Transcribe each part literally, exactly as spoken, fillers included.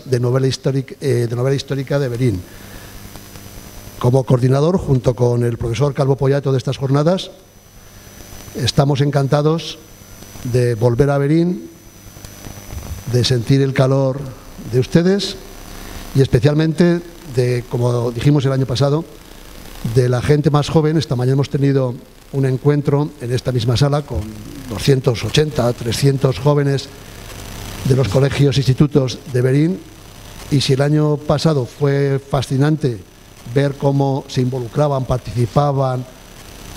de novela histórica, eh, de novela histórica de Verín. Como coordinador, junto con el profesor Calvo Pollato de estas jornadas, estamos encantados de volver a Verín, de sentir el calor de ustedes y especialmente de, como dijimos el año pasado, de la gente más joven. Esta mañana hemos tenido un encuentro en esta misma sala con doscientos ochenta, trescientos jóvenes de los colegios e institutos de Verín, y si el año pasado fue fascinante ver cómo se involucraban, participaban,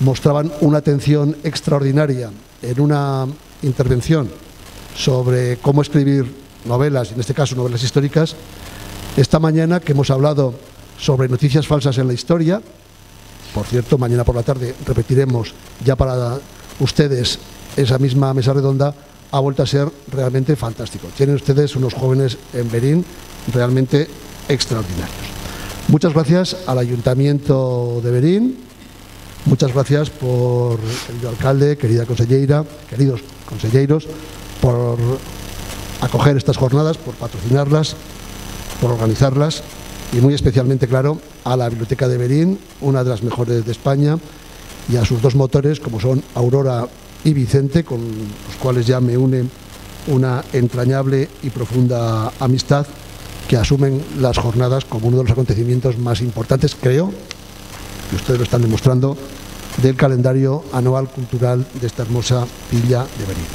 mostraban una atención extraordinaria en una intervención sobre cómo escribir novelas, en este caso novelas históricas, esta mañana que hemos hablado sobre noticias falsas en la historia, por cierto, mañana por la tarde repetiremos ya para ustedes esa misma mesa redonda, ha vuelto a ser realmente fantástico. Tienen ustedes unos jóvenes en Verín realmente extraordinarios. Muchas gracias al Ayuntamiento de Verín, muchas gracias por, querido alcalde, querida consellera, queridos conselleiros, por acoger estas jornadas, por patrocinarlas, por organizarlas y muy especialmente, claro, a la Biblioteca de Verín, una de las mejores de España, y a sus dos motores, como son Aurora y Vicente, con los cuales ya me une una entrañable y profunda amistad, que asumen las jornadas como uno de los acontecimientos más importantes, creo, y ustedes lo están demostrando, del calendario anual cultural de esta hermosa villa de Verín.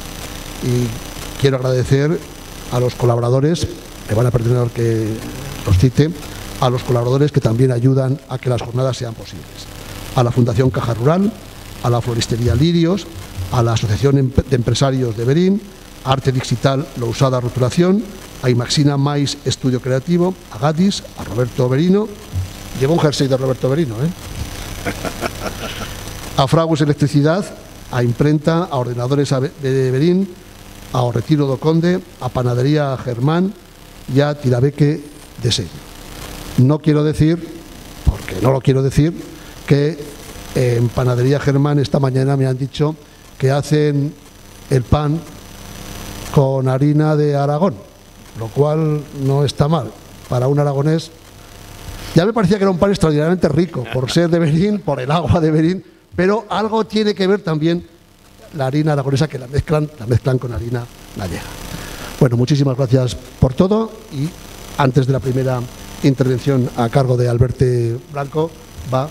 Y quiero agradecer a los colaboradores, me van a perdonar que los cite, a los colaboradores que también ayudan a que las jornadas sean posibles. A la Fundación Caja Rural, a la Floristería Lirios, a la Asociación de Empresarios de Verín, a Arte Digital Lousada Rotulación, a Imaxina Mais Estudio Creativo, a Gatis, a Roberto Verino, llevo un jersey de Roberto Verino, ¿eh? A Fragus Electricidad, a Imprenta, a Ordenadores de Verín, a O Retiro do Conde, a Panadería Germán y a Tirabeque de Sello. No quiero decir, porque no lo quiero decir, que en Panadería Germán esta mañana me han dicho que hacen el pan con harina de Aragón, lo cual no está mal para un aragonés. Ya me parecía que era un pan extraordinariamente rico, por ser de Verín, por el agua de Verín, pero algo tiene que ver también la harina aragonesa, que la mezclan, la mezclan con harina gallega. Bueno, muchísimas gracias por todo, y antes de la primera intervención a cargo de Alberto Blanco va,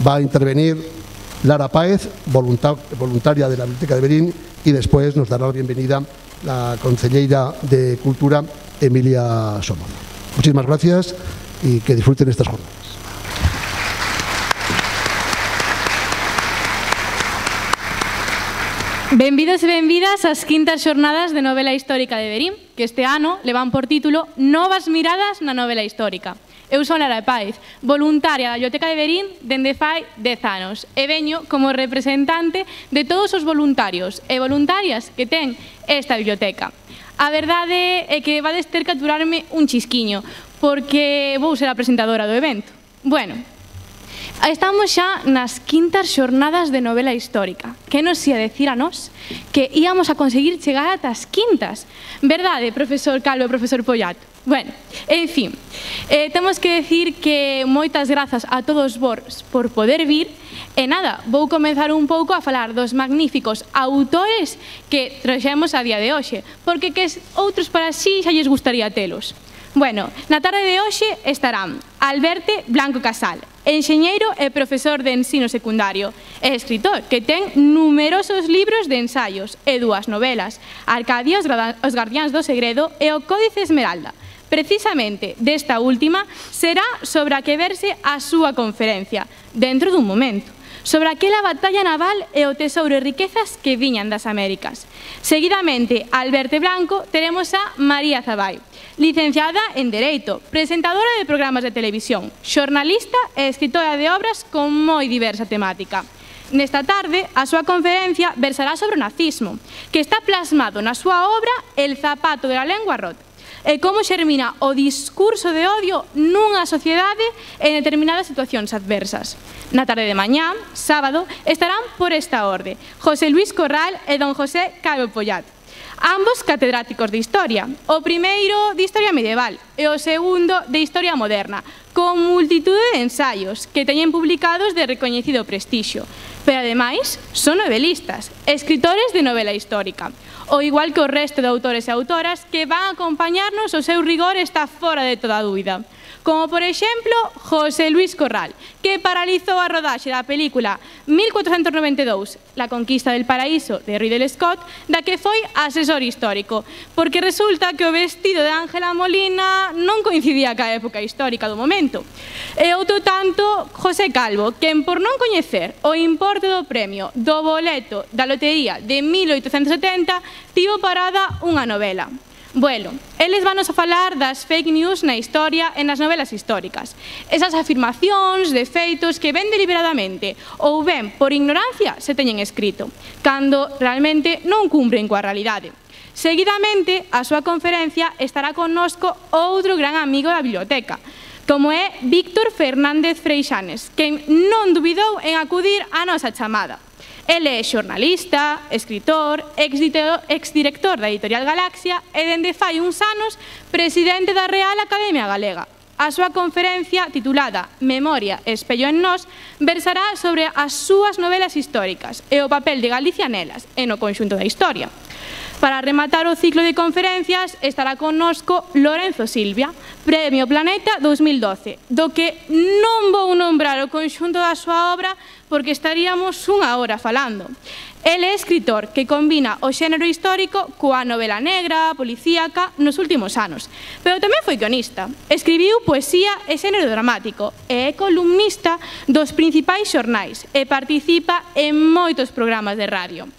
va a intervenir Lara Páez, voluntaria de la Biblioteca de Verín, y después nos dará la bienvenida la consellera de Cultura, Emilia Somoza. Muchísimas gracias y que disfruten estas jornadas. Benvidos e benvidas ás quintas xornadas de novela histórica de Verín, que este ano levan por título Novas miradas na novela histórica. Eu son Lara Páez, voluntaria da Biblioteca de Verín dende fai dez anos, e veño como representante de todos os voluntarios e voluntarias que ten esta biblioteca. A verdade é que vades ter que aturarme un chisquiño, porque vou ser a presentadora do evento. Bueno, estamos xa nas quintas xornadas de novela histórica. Que nos ia decir a nós que íamos a conseguir chegar ata as quintas? Verdade, profesor Calvo e profesor Pollato? Bueno, en fin, eh, temos que decir que moitas grazas a todos vos por poder vir. E nada, vou comenzar un pouco a falar dos magníficos autores que traxemos a día de hoxe, porque que outros para sí xa lles gustaría telos. Bueno, na tarde de hoxe estarán Alberto Blanco Casal, enxeñeiro e profesor de ensino secundario, e escritor que ten numerosos libros de ensaios e dúas novelas, Arcadia, os Gardiáns do Segredo e o Códice Esmeralda. Precisamente desta última será sobre a que verse a súa conferencia, dentro dun momento, sobre aquela batalla naval e o tesouro e riquezas que viñan das Américas. Seguidamente, a Alberto Blanco, teremos a María Zabay, licenciada en Dereito, presentadora de programas de televisión, xornalista e escritora de obras con moi diversa temática. Nesta tarde, a súa conferencia versará sobre o nazismo, que está plasmado na súa obra El zapato de la lengua rota, e como xermina o discurso de odio nunha sociedade en determinadas situacións adversas. Na tarde de mañá, sábado, estarán por esta orde José Luis Corral e don José Calvo Pollato. ambos catedráticos de Historia, o primeiro de Historia Medieval e o segundo de Historia Moderna, con multitude de ensaios que teñen publicados de recoñecido prestixio. Pero, ademais, son novelistas, escritores de novela histórica, o igual que o resto de autores e autoras que van a acompañarnos, o seu rigor está fora de toda dúbida. Como, por exemplo, José Luis Corral, que paralizou a rodaxe da película mil cuatrocentos noventa e dous, La conquista del paraíso, de Ridley Scott, da que foi asesor histórico, porque resulta que o vestido de Ángela Molina non coincidía ca época histórica do momento. E outro tanto, José Calvo, quen por non coñecer o importe do premio do boleto da lotería de mil oitocentos setenta, tivo parada unha novela. Bueno, eles vanos a falar das fake news na historia e nas novelas históricas. Esas afirmacións de feitos que ben deliberadamente ou ben por ignorancia se teñen escrito, cando realmente non cumpren coa realidade. Seguidamente, a súa conferencia estará connosco outro gran amigo da biblioteca, como é Víctor Fernández Freixanes, quen non dubidou en acudir á nosa chamada. Ele é xornalista, escritor, exdirector da Editorial Galaxia e dende fai uns anos presidente da Real Academia Galega. A súa conferencia, titulada Memoria, espello en nós, versará sobre as súas novelas históricas e o papel de Galicia nelas e no conxunto da historia. Para rematar o ciclo de conferencias estará connosco Lorenzo Silvia, Premio Planeta dous mil doce, do que non vou nombrar o conxunto da súa obra porque estaríamos unha hora falando. Ele é escritor que combina o xénero histórico coa novela negra, policíaca, nos últimos anos. Pero tamén foi guionista, escribiu poesía e xénero dramático e é columnista dos principais xornais e participa en moitos programas de radio.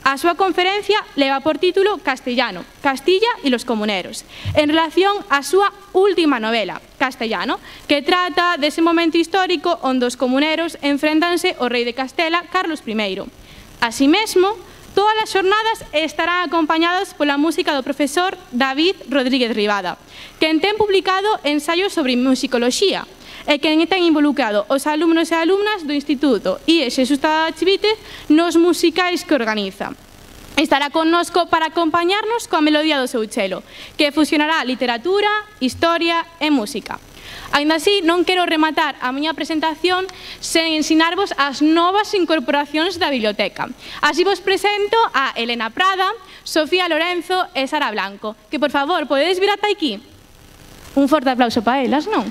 A súa conferencia leva por título Castellano, Castilla e los comuneros, en relación á súa última novela, Castellano, que trata dese momento histórico onde os comuneros enfréntanse ao rei de Castela, Carlos primeiro. Así mesmo, todas as xornadas estarán acompañadas pola música do profesor David Rodríguez Ribada, quen ten publicado ensaios sobre musicoloxía, e quen ten involucrado os alumnos e alumnas do Instituto I E Xesús Tadachivite nos musicais que organiza. Estará connosco para acompañarnos coa melodía do seu chelo, que fusionará literatura, historia e música. Ainda así, non quero rematar a miña presentación sen ensinarvos as novas incorporacións da biblioteca. Así vos presento a Elena Prada, Sofía Lorenzo e Sara Blanco, que, por favor, podedes vir ata aquí? Un forte aplauso para elas, non?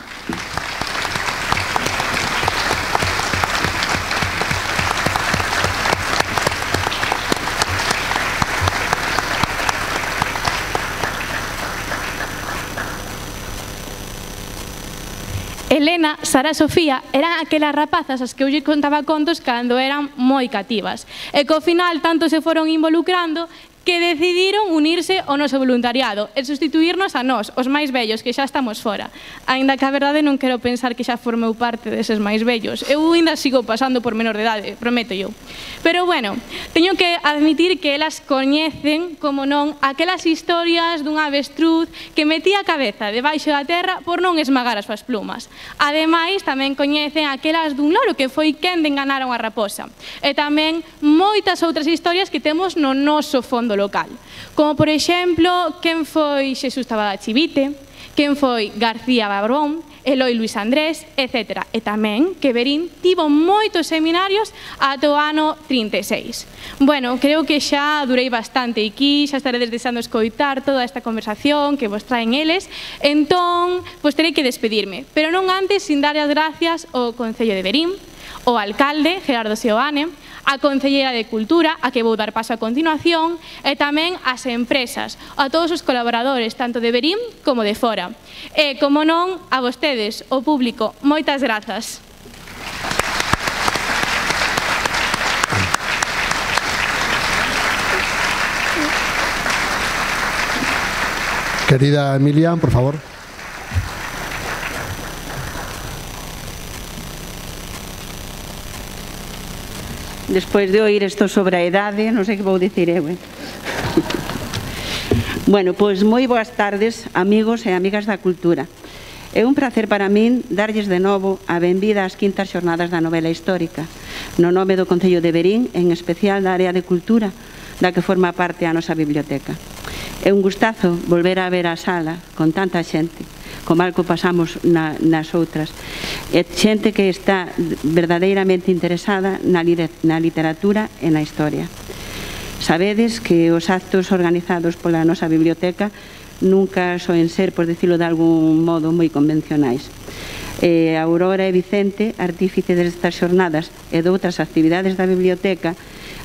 Elena, Sara e Sofía eran aquelas rapazas as que eu lle contaba contos cando eran moi cativas e que ao final tanto se foron involucrando que decidiron unirse ao noso voluntariado e sustituirnos a nós, os máis vellos, que xa estamos fora. Ainda que a verdade non quero pensar que xa formeu parte deses máis vellos. Eu ainda sigo pasando por menor de idade, prometo yo. Pero bueno, teño que admitir que elas coñecen, como non, aquelas historias dun avestruz que metía a cabeza debaixo da terra por non esmagar as súas plumas. Ademais, tamén coñecen aquelas dun loro que foi quen de enganar a unha raposa. E tamén moitas outras historias que temos no noso fondo local, como por exemplo quen foi Xesús Tadachivite, quen foi García Barón, Eloi Luis Andrés, etcétera. E tamén que Verín tivo moitos seminarios ata o ano trinta e seis. Bueno, creo que xa durei bastante aquí, xa estaredes deseando escoitar toda esta conversación que vos traen eles, entón, pois terei que despedirme, pero non antes sin dar as gracias ao Concello de Verín, ao alcalde, Gerardo Seoane, a Concelleira de Cultura, a que vou dar paso a continuación, e tamén ás empresas, a todos os colaboradores, tanto de Verín como de fora. E, como non, a vostedes, o público, moitas grazas. Querida Emilia, por favor. Despois de oír isto sobre a idade, non sei que vou dicir eu. Eh? Bueno, pois moi boas tardes, amigos e amigas da cultura. É un placer para min darlles de novo a benvida ás quintas xornadas da novela histórica, no nome do Concello de Verín, en especial da área de cultura, da que forma parte a nosa biblioteca. É un gustazo volver a ver a sala con tanta xente, como algo pasamos na, nas outras. É xente que está verdadeiramente interesada na, na literatura e na historia. Sabedes que os actos organizados pola nosa biblioteca nunca soen ser, por dicilo de algún modo, moi convencionais. Eh, Aurora e Vicente, artífice destas xornadas e de outras actividades da biblioteca,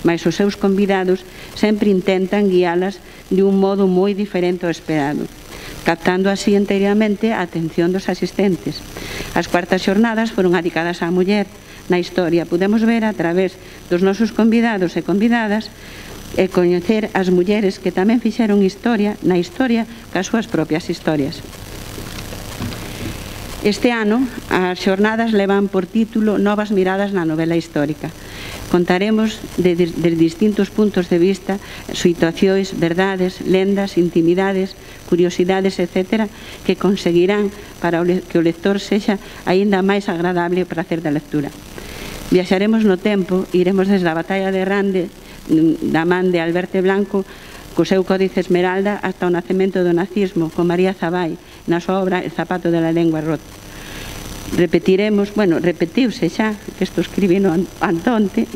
mais os seus convidados, sempre intentan guialas de un modo moi diferente ao esperado, captando así enteramente a atención dos asistentes. As cuartas xornadas foron dedicadas á muller. Na historia podemos ver a través dos nosos convidados e convidadas e coñecer as mulleres que tamén fixeron historia na historia cas súas propias historias. Este ano, as xornadas levan por título Novas miradas na novela histórica. Contaremos de, de, de distintos puntos de vista situacións, verdades, lendas, intimidades, curiosidades, etcétera, que conseguirán para que o lector sexa aínda máis agradable o prazer da lectura. Viaxaremos no tempo, iremos desde a batalla de Rande, da man de Alberto Blanco, co seu Códice Esmeralda, hasta o nacemento do nazismo, con María Zabay, na súa obra El zapato de la lengua rota. Repetiremos, bueno, repetiuse xa, que isto escribí no Antonte,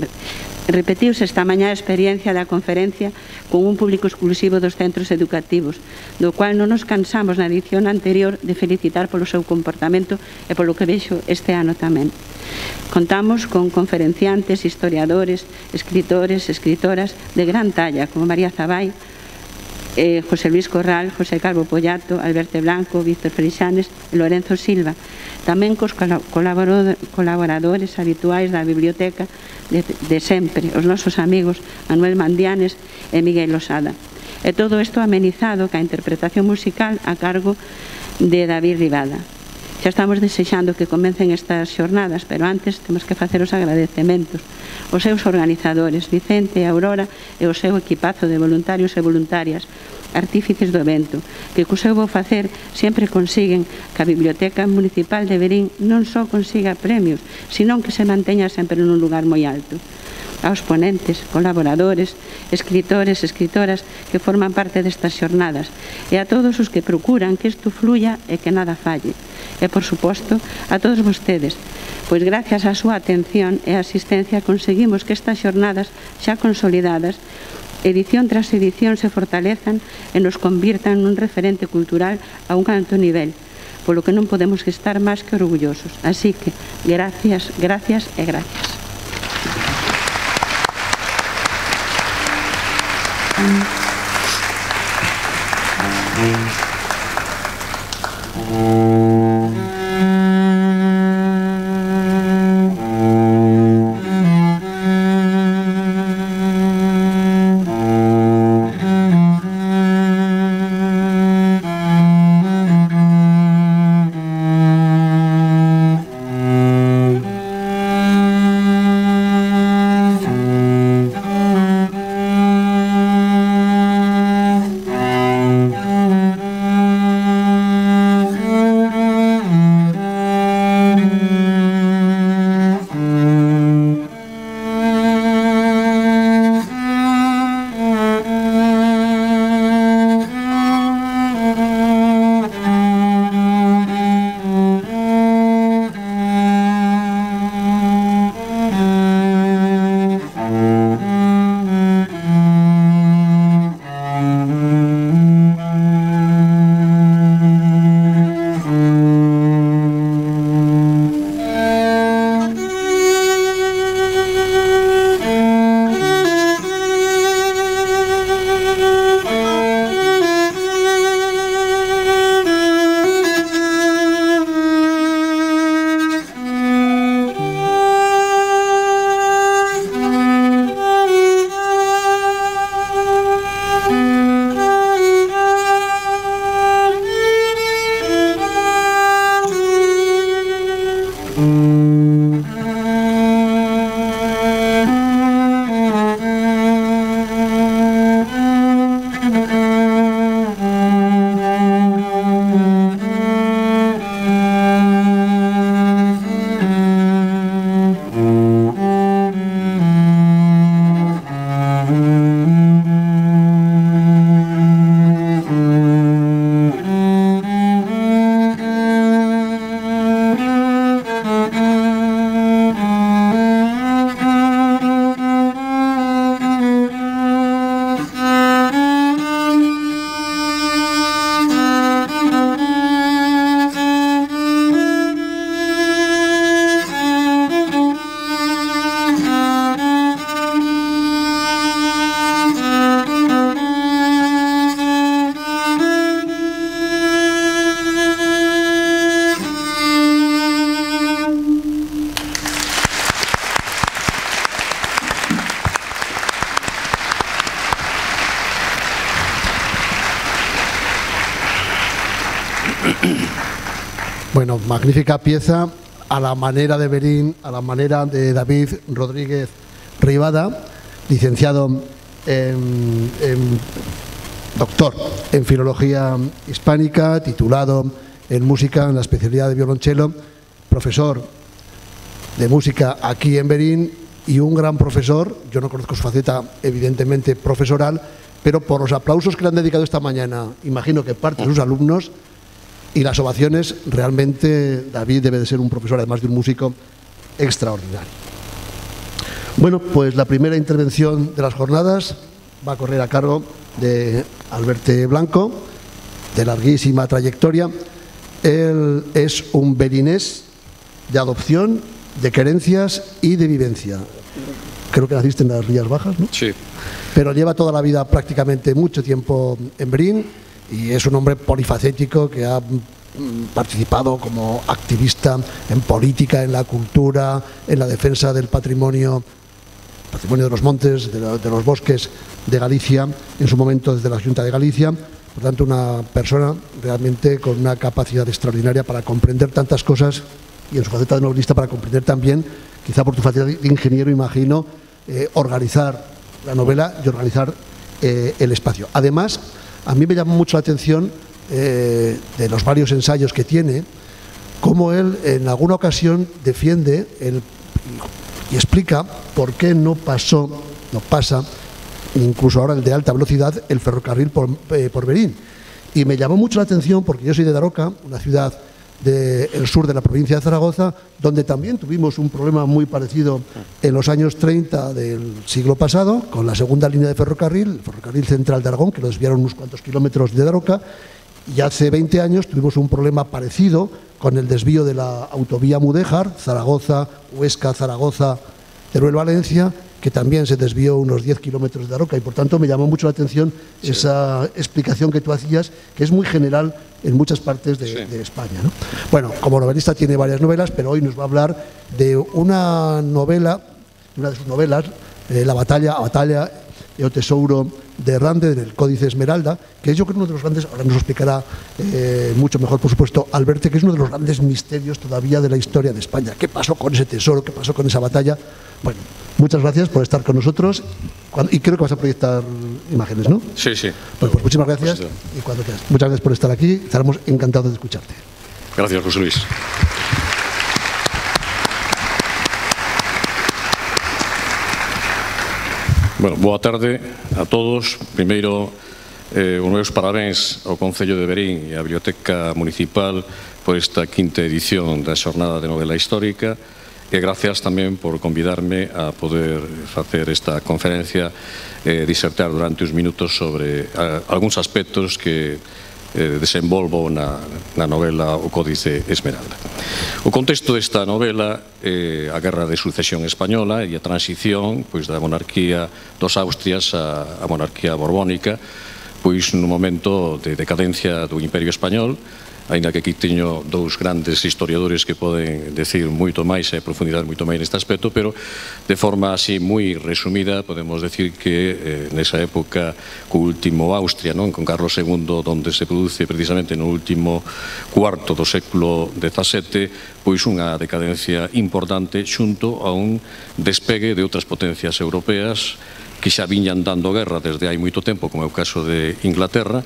repetiuse esta mañá a experiencia da conferencia con un público exclusivo dos centros educativos, do cual non nos cansamos na edición anterior de felicitar polo seu comportamento e polo que vexo este ano tamén. Contamos con conferenciantes, historiadores, escritores, escritoras de gran talla, como María Zabay, eh, José Luis Corral, José Calvo Pollato, Alberto Blanco, Víctor Freixanes e Lorenzo Silva, tamén cos colaboradores habituais da biblioteca de, de sempre, os nosos amigos Manuel Mandianes e Miguel Losada. E todo isto amenizado ca interpretación musical a cargo de David Rivada. Xa estamos desexando que comecen estas xornadas, pero antes temos que facer os agradecementos aos seus organizadores, Vicente e Aurora, e o seu equipazo de voluntarios e voluntarias, artífices do evento, que co seu bo facer sempre consiguen que a Biblioteca Municipal de Verín non só consiga premios, senón que se manteña sempre nun lugar moi alto. Aos ponentes, colaboradores, escritores, escritoras que forman parte destas xornadas e a todos os que procuran que isto fluya e que nada falle. E, por suposto, a todos vostedes, pois gracias á súa atención e asistencia conseguimos que estas xornadas xa consolidadas, edición tras edición, se fortalezan e nos convirtan nun referente cultural a un alto nivel, polo que non podemos estar máis que orgullosos. Así que, gracias, gracias e gracias. Mm-hmm. Bueno, magnífica pieza a la manera de Berín, a la manera de David Rodríguez Ribada, licenciado en, en doctor en Filología Hispánica, titulado en Música en la especialidad de violonchelo, profesor de música aquí en Berín y un gran profesor. Yo no conozco su faceta evidentemente profesoral, pero por los aplausos que le han dedicado esta mañana, imagino que parte de sus alumnos y las ovaciones, realmente David debe de ser un profesor, además de un músico, extraordinario. Bueno, pues la primera intervención de las jornadas va a correr a cargo de Alberto Blanco, de larguísima trayectoria. Él es un berinés de adopción, de querencias y de vivencia. Creo que naciste en las Rías Bajas, ¿no? Sí. Pero lleva toda la vida, prácticamente mucho tiempo en Berín, y es un hombre polifacético que ha participado como activista en política, en la cultura, en la defensa del patrimonio, patrimonio de los montes, de, la, de los bosques de Galicia, en su momento desde la Junta de Galicia. Por tanto, una persona realmente con una capacidad extraordinaria para comprender tantas cosas, y en su faceta de novelista para comprender también, quizá por tu faceta de ingeniero, imagino, eh, organizar la novela y organizar eh, el espacio. Además, a mí me llamó mucho la atención eh, de los varios ensayos que tiene, cómo él en alguna ocasión defiende el, y explica por qué no pasó, no pasa, incluso ahora el de alta velocidad, el ferrocarril por, eh, por Berín. Y me llamó mucho la atención porque yo soy de Daroca, una ciudad del sur de la provincia de Zaragoza, donde también tuvimos un problema muy parecido en los años treinta del siglo pasado, con la segunda línea de ferrocarril, el ferrocarril central de Aragón, que lo desviaron unos cuantos kilómetros de Daroca, y hace veinte años tuvimos un problema parecido con el desvío de la autovía Mudéjar, Zaragoza, Huesca, Zaragoza, Teruel, Valencia, que también se desvió unos diez kilómetros de Daroca, y por tanto me llamó mucho la atención sí. esa explicación que tú hacías, que es muy general en muchas partes de, sí. de España, ¿no? Bueno, como novelista tiene varias novelas, pero hoy nos va a hablar de una novela, una de sus novelas, eh, La batalla, a batalla e o tesouro de Rande, del Códice Esmeralda, que es, yo creo, uno de los grandes, ahora nos lo explicará eh, mucho mejor, por supuesto, Alberto, que es uno de los grandes misterios todavía de la historia de España. ¿Qué pasó con ese tesoro? ¿Qué pasó con esa batalla? Bueno, muchas gracias por estar con nosotros, y creo que vas a proyectar imágenes, ¿no? Sí, sí. Bueno, pues muchísimas gracias, pues, y cuando quieras. Muchas gracias por estar aquí, estaremos encantados de escucharte. Gracias, José Luis. Bueno, boa tarde a todos. Primeiro, eh, os meus parabéns ao Concello de Berín e á Biblioteca Municipal por esta quinta edición da Xornada de Novela Histórica, e gracias tamén por convidarme a poder facer esta conferencia e eh, disertar durante uns minutos sobre eh, algúns aspectos que eh, desenvolvo na, na novela O Códice Esmeralda. O contexto desta novela é eh, a Guerra de Sucesión Española e a transición pois, da monarquía dos Austrias á monarquía borbónica, pois nun momento de decadencia do Imperio Español, aínda que aquí teño dous grandes historiadores que poden decir moito máis e profundidade moito máis neste aspecto, pero de forma así moi resumida podemos decir que eh, nesa época co último Austria, non, con Carlos segundo, donde se produce precisamente no último cuarto do século dezasete, pois unha decadencia importante xunto a un despegue de outras potencias europeas que xa viñan dando guerra desde hai moito tempo, como é o caso de Inglaterra,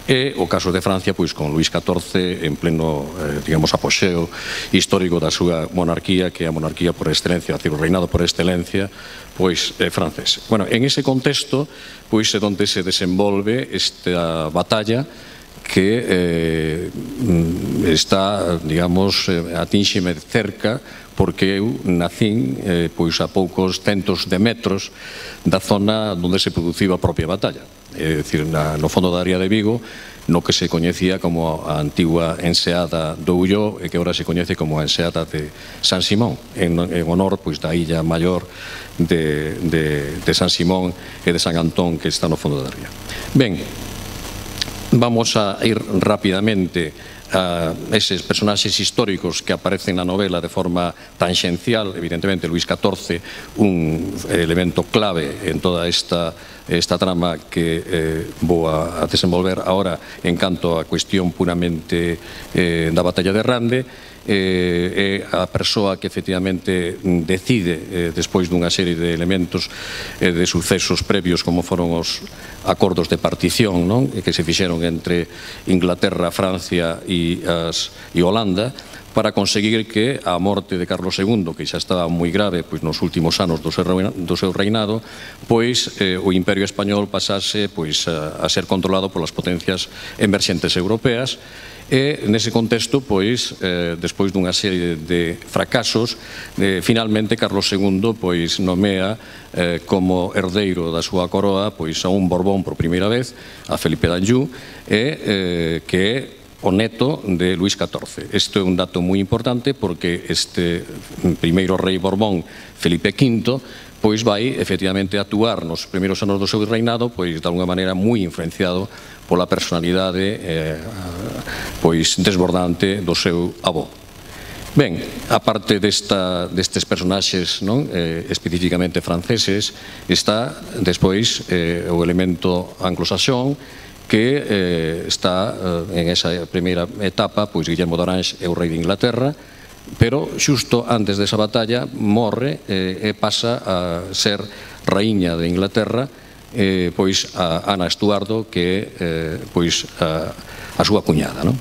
e o caso de Francia, pois con Luís catorce en pleno, eh, digamos, apoxeo histórico da súa monarquía, que é a monarquía por excelencia, o reinado por excelencia, pois é francés. Bueno, en ese contexto, pois é onde se desenvolve esta batalla que eh, está, digamos, eh, atinxeme cerca, porque eu nacín eh, pois a poucos centos de metros da zona onde se produciu a propia batalla, é dicir, na, no fondo da área de Vigo, no que se coñecía como a antigua enseada do Ulló e que agora se coñece como a enseada de San Simón, en, en honor pois da illa maior de, de, de San Simón e de San Antón, que está no fondo da ría. Ben, vamos a ir rapidamente a eses personaxes históricos que aparecen na novela de forma tangencial. Evidentemente, Luís catorce, un elemento clave en toda esta esta trama que eh, vou a, a desenvolver agora en canto a cuestión puramente eh, da batalla de Rande. Eh, é a persoa que efectivamente decide, eh, despois dunha serie de elementos eh, de sucesos previos como foron os acordos de partición, non? Que se fixeron entre Inglaterra, Francia e, as, e Holanda, para conseguir que a morte de Carlos segundo, que xa estaba moi grave pois, nos últimos anos do seu, do seu reinado, pois eh, o Imperio Español pasase pois, a, a ser controlado polas potencias emerxentes europeas. E nese contexto, pois, eh, despois dunha serie de fracasos, eh, finalmente Carlos segundo pois, nomea eh, como herdeiro da súa coroa pois, a un Borbón por primeira vez, a Felipe d'Anjou, e, eh, que é o neto de Luís catorce. Isto é un dato moi importante porque este primeiro rei Borbón, Felipe quinto, pois vai efectivamente actuar nos primeiros anos do seu reinado pois de alguna maneira moi influenciado pola personalidade eh, pois desbordante do seu avó. Ben, a parte desta, destes personaxes non, eh, especificamente franceses, está despois eh, o elemento anglosaxón, que eh, está eh, en esa primeira etapa, pois Guillermo de Orange é o rei de Inglaterra, pero xusto antes desa batalla morre eh, e pasa a ser raíña de Inglaterra eh, pois a Ana Estuardo, que é eh, pois a, a súa cuñada, non?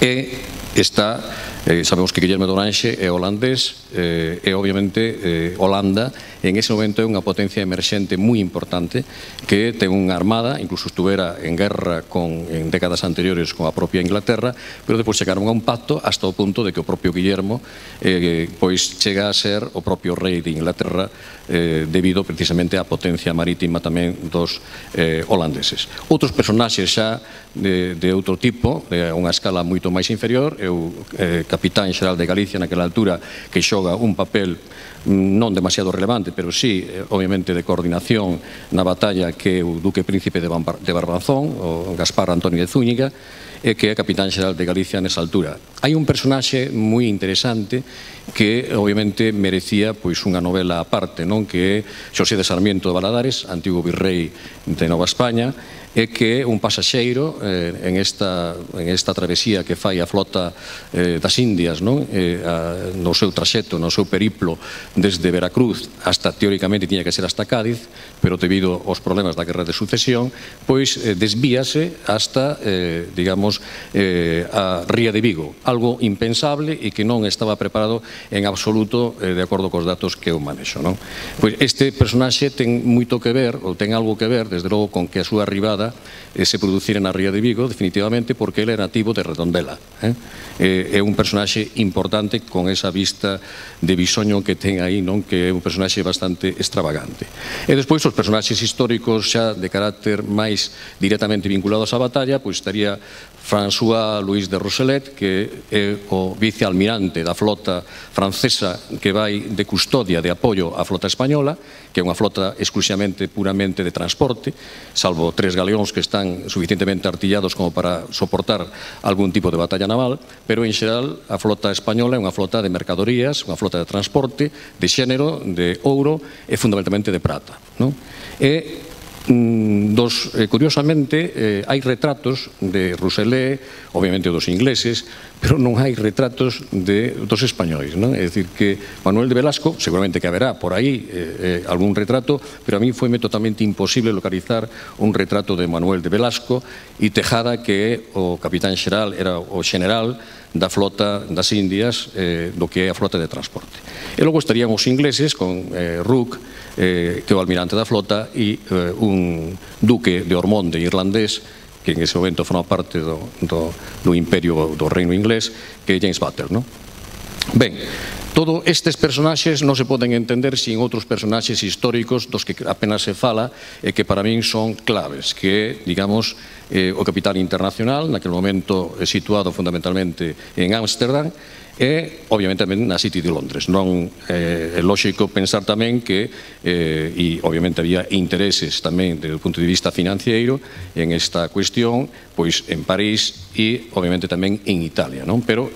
E está, eh, sabemos que Guillermo de Orange é holandés eh, e obviamente eh, Holanda en ese momento é unha potencia emerxente moi importante que ten unha armada, incluso estuvera en guerra con, en décadas anteriores con a propia Inglaterra, pero depois chegaron a un pacto hasta o punto de que o propio Guillermo eh, pois chega a ser o propio rei de Inglaterra eh, debido precisamente á potencia marítima tamén dos eh, holandeses. Outros personaxes xa de, de outro tipo, de unha escala moito máis inferior, é o eh, capitán xeral de Galicia naquela altura, que xoga un papel non demasiado relevante, pero sí, obviamente, de coordinación na batalla, que é o duque príncipe de Barbanzón, o Gaspar Antonio de Zúñiga, e que é capitán xeral de Galicia nesa altura. Hai un personaxe moi interesante que, obviamente, merecía pois unha novela aparte, non? Que é Xosé de Sarmiento de Valadares, antigo virrei de Nova España, e que é un pasaxeiro eh, en, esta, en esta travesía que fai a flota eh, das Indias, non? Eh, a, no seu traxecto, no seu periplo desde Veracruz hasta, teóricamente, tiña que ser hasta Cádiz, pero debido aos problemas da guerra de sucesión, pois eh, desvíase hasta, eh, digamos, eh, a Ría de Vigo, algo impensable e que non estaba preparado en absoluto eh, de acordo cos datos que eu manexo, non? Pois este personaxe ten moito que ver, ou ten algo que ver, desde logo, con que a súa arribada se producir na Ría de Vigo, definitivamente, porque ele é nativo de Redondela. É un personaxe importante con esa vista de bisoño que ten aí, non? Que é un personaxe bastante extravagante. E despois os personaxes históricos xa de carácter máis directamente vinculados á batalla, pois estaría François Louis de Rousselet, que é o vicealmirante da flota francesa que vai de custodia, de apoio á flota española, que é unha flota exclusivamente, puramente de transporte, salvo tres galeóns que están suficientemente artillados como para soportar algún tipo de batalla naval, pero en xeral a flota española é unha flota de mercadorías, unha flota de transporte, de xénero, de ouro e fundamentalmente de prata, non? E Dos, eh, curiosamente, eh, hai retratos de Rousselet, obviamente dos ingleses, pero non hai retratos de, dos españois, non? É dicir, que Manuel de Velasco, seguramente que haberá por aí eh, eh, algún retrato, pero a mí foi totalmente imposible localizar un retrato de Manuel de Velasco, e Tejada, que é o capitán xeral, era o xeneral da flota das Indias, eh, do que é a flota de transporte. E logo estarían os ingleses con eh, Rooke, eh, que é o almirante da flota, e eh, un duque de Ormonde irlandés, que en ese momento forma parte do, do, do imperio do reino inglés, que é James Butler, non? Ben, todos estes personaxes non se poden entender sin outros personaxes históricos dos que apenas se fala e que para min son claves, que é, digamos, eh, o capitán internacional, naquele momento situado fundamentalmente en Ámsterdam, e, obviamente, tamén na City de Londres. Non é lógico pensar tamén que, e, obviamente, había intereses tamén, desde o punto de vista financiero, en esta cuestión, pois, en París e, obviamente, tamén en Italia, non? Pero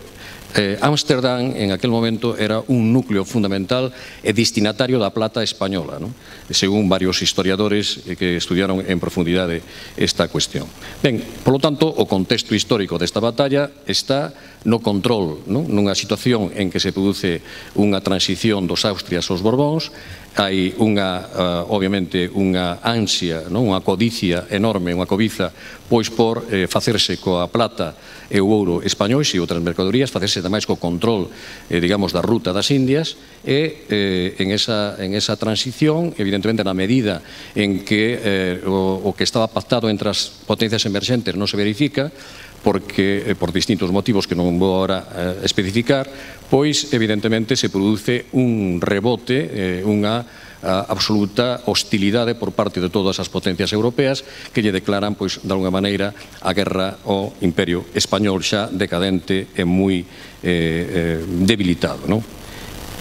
Eh, Ámsterdam en aquel momento era un núcleo fundamental e destinatario da plata española, non? Según varios historiadores que estudiaron en profundidade esta cuestión. Ben, polo tanto, o contexto histórico desta batalla está no control, non? Nunha situación en que se produce unha transición dos Austrias aos Borbóns, hai unha, uh, obviamente, unha ansia, non? Unha codicia enorme, unha cobiza, pois por eh, facerse coa plata e o ouro españois e outras mercadorías, facerse tamais co control, eh, digamos, da ruta das Indias, e eh, en, esa, en esa transición, evidentemente, na medida en que eh, o, o que estaba pactado entre as potencias emerxentes non se verifica, porque, eh, por distintos motivos que non vou agora eh, especificar, pois, evidentemente, se produce un rebote, eh, unha a absoluta hostilidade por parte de todas as potencias europeas que lle declaran, pois, de alguna maneira, a guerra ao Imperio Español xa decadente e moi eh, eh, debilitado, non?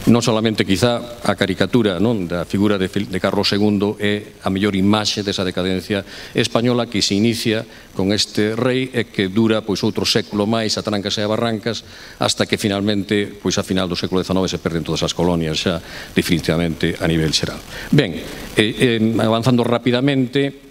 Non solamente, quizá, a caricatura, non, da figura de, de Carlos segundo é a mellor imaxe desa decadencia española que se inicia con este rei e que dura, pois, outro século máis a trancas e a barrancas hasta que finalmente, pois, a final do século dezenove se perden todas as colonias xa definitivamente a nivel xeral. Ben, eh, eh, avanzando rapidamente,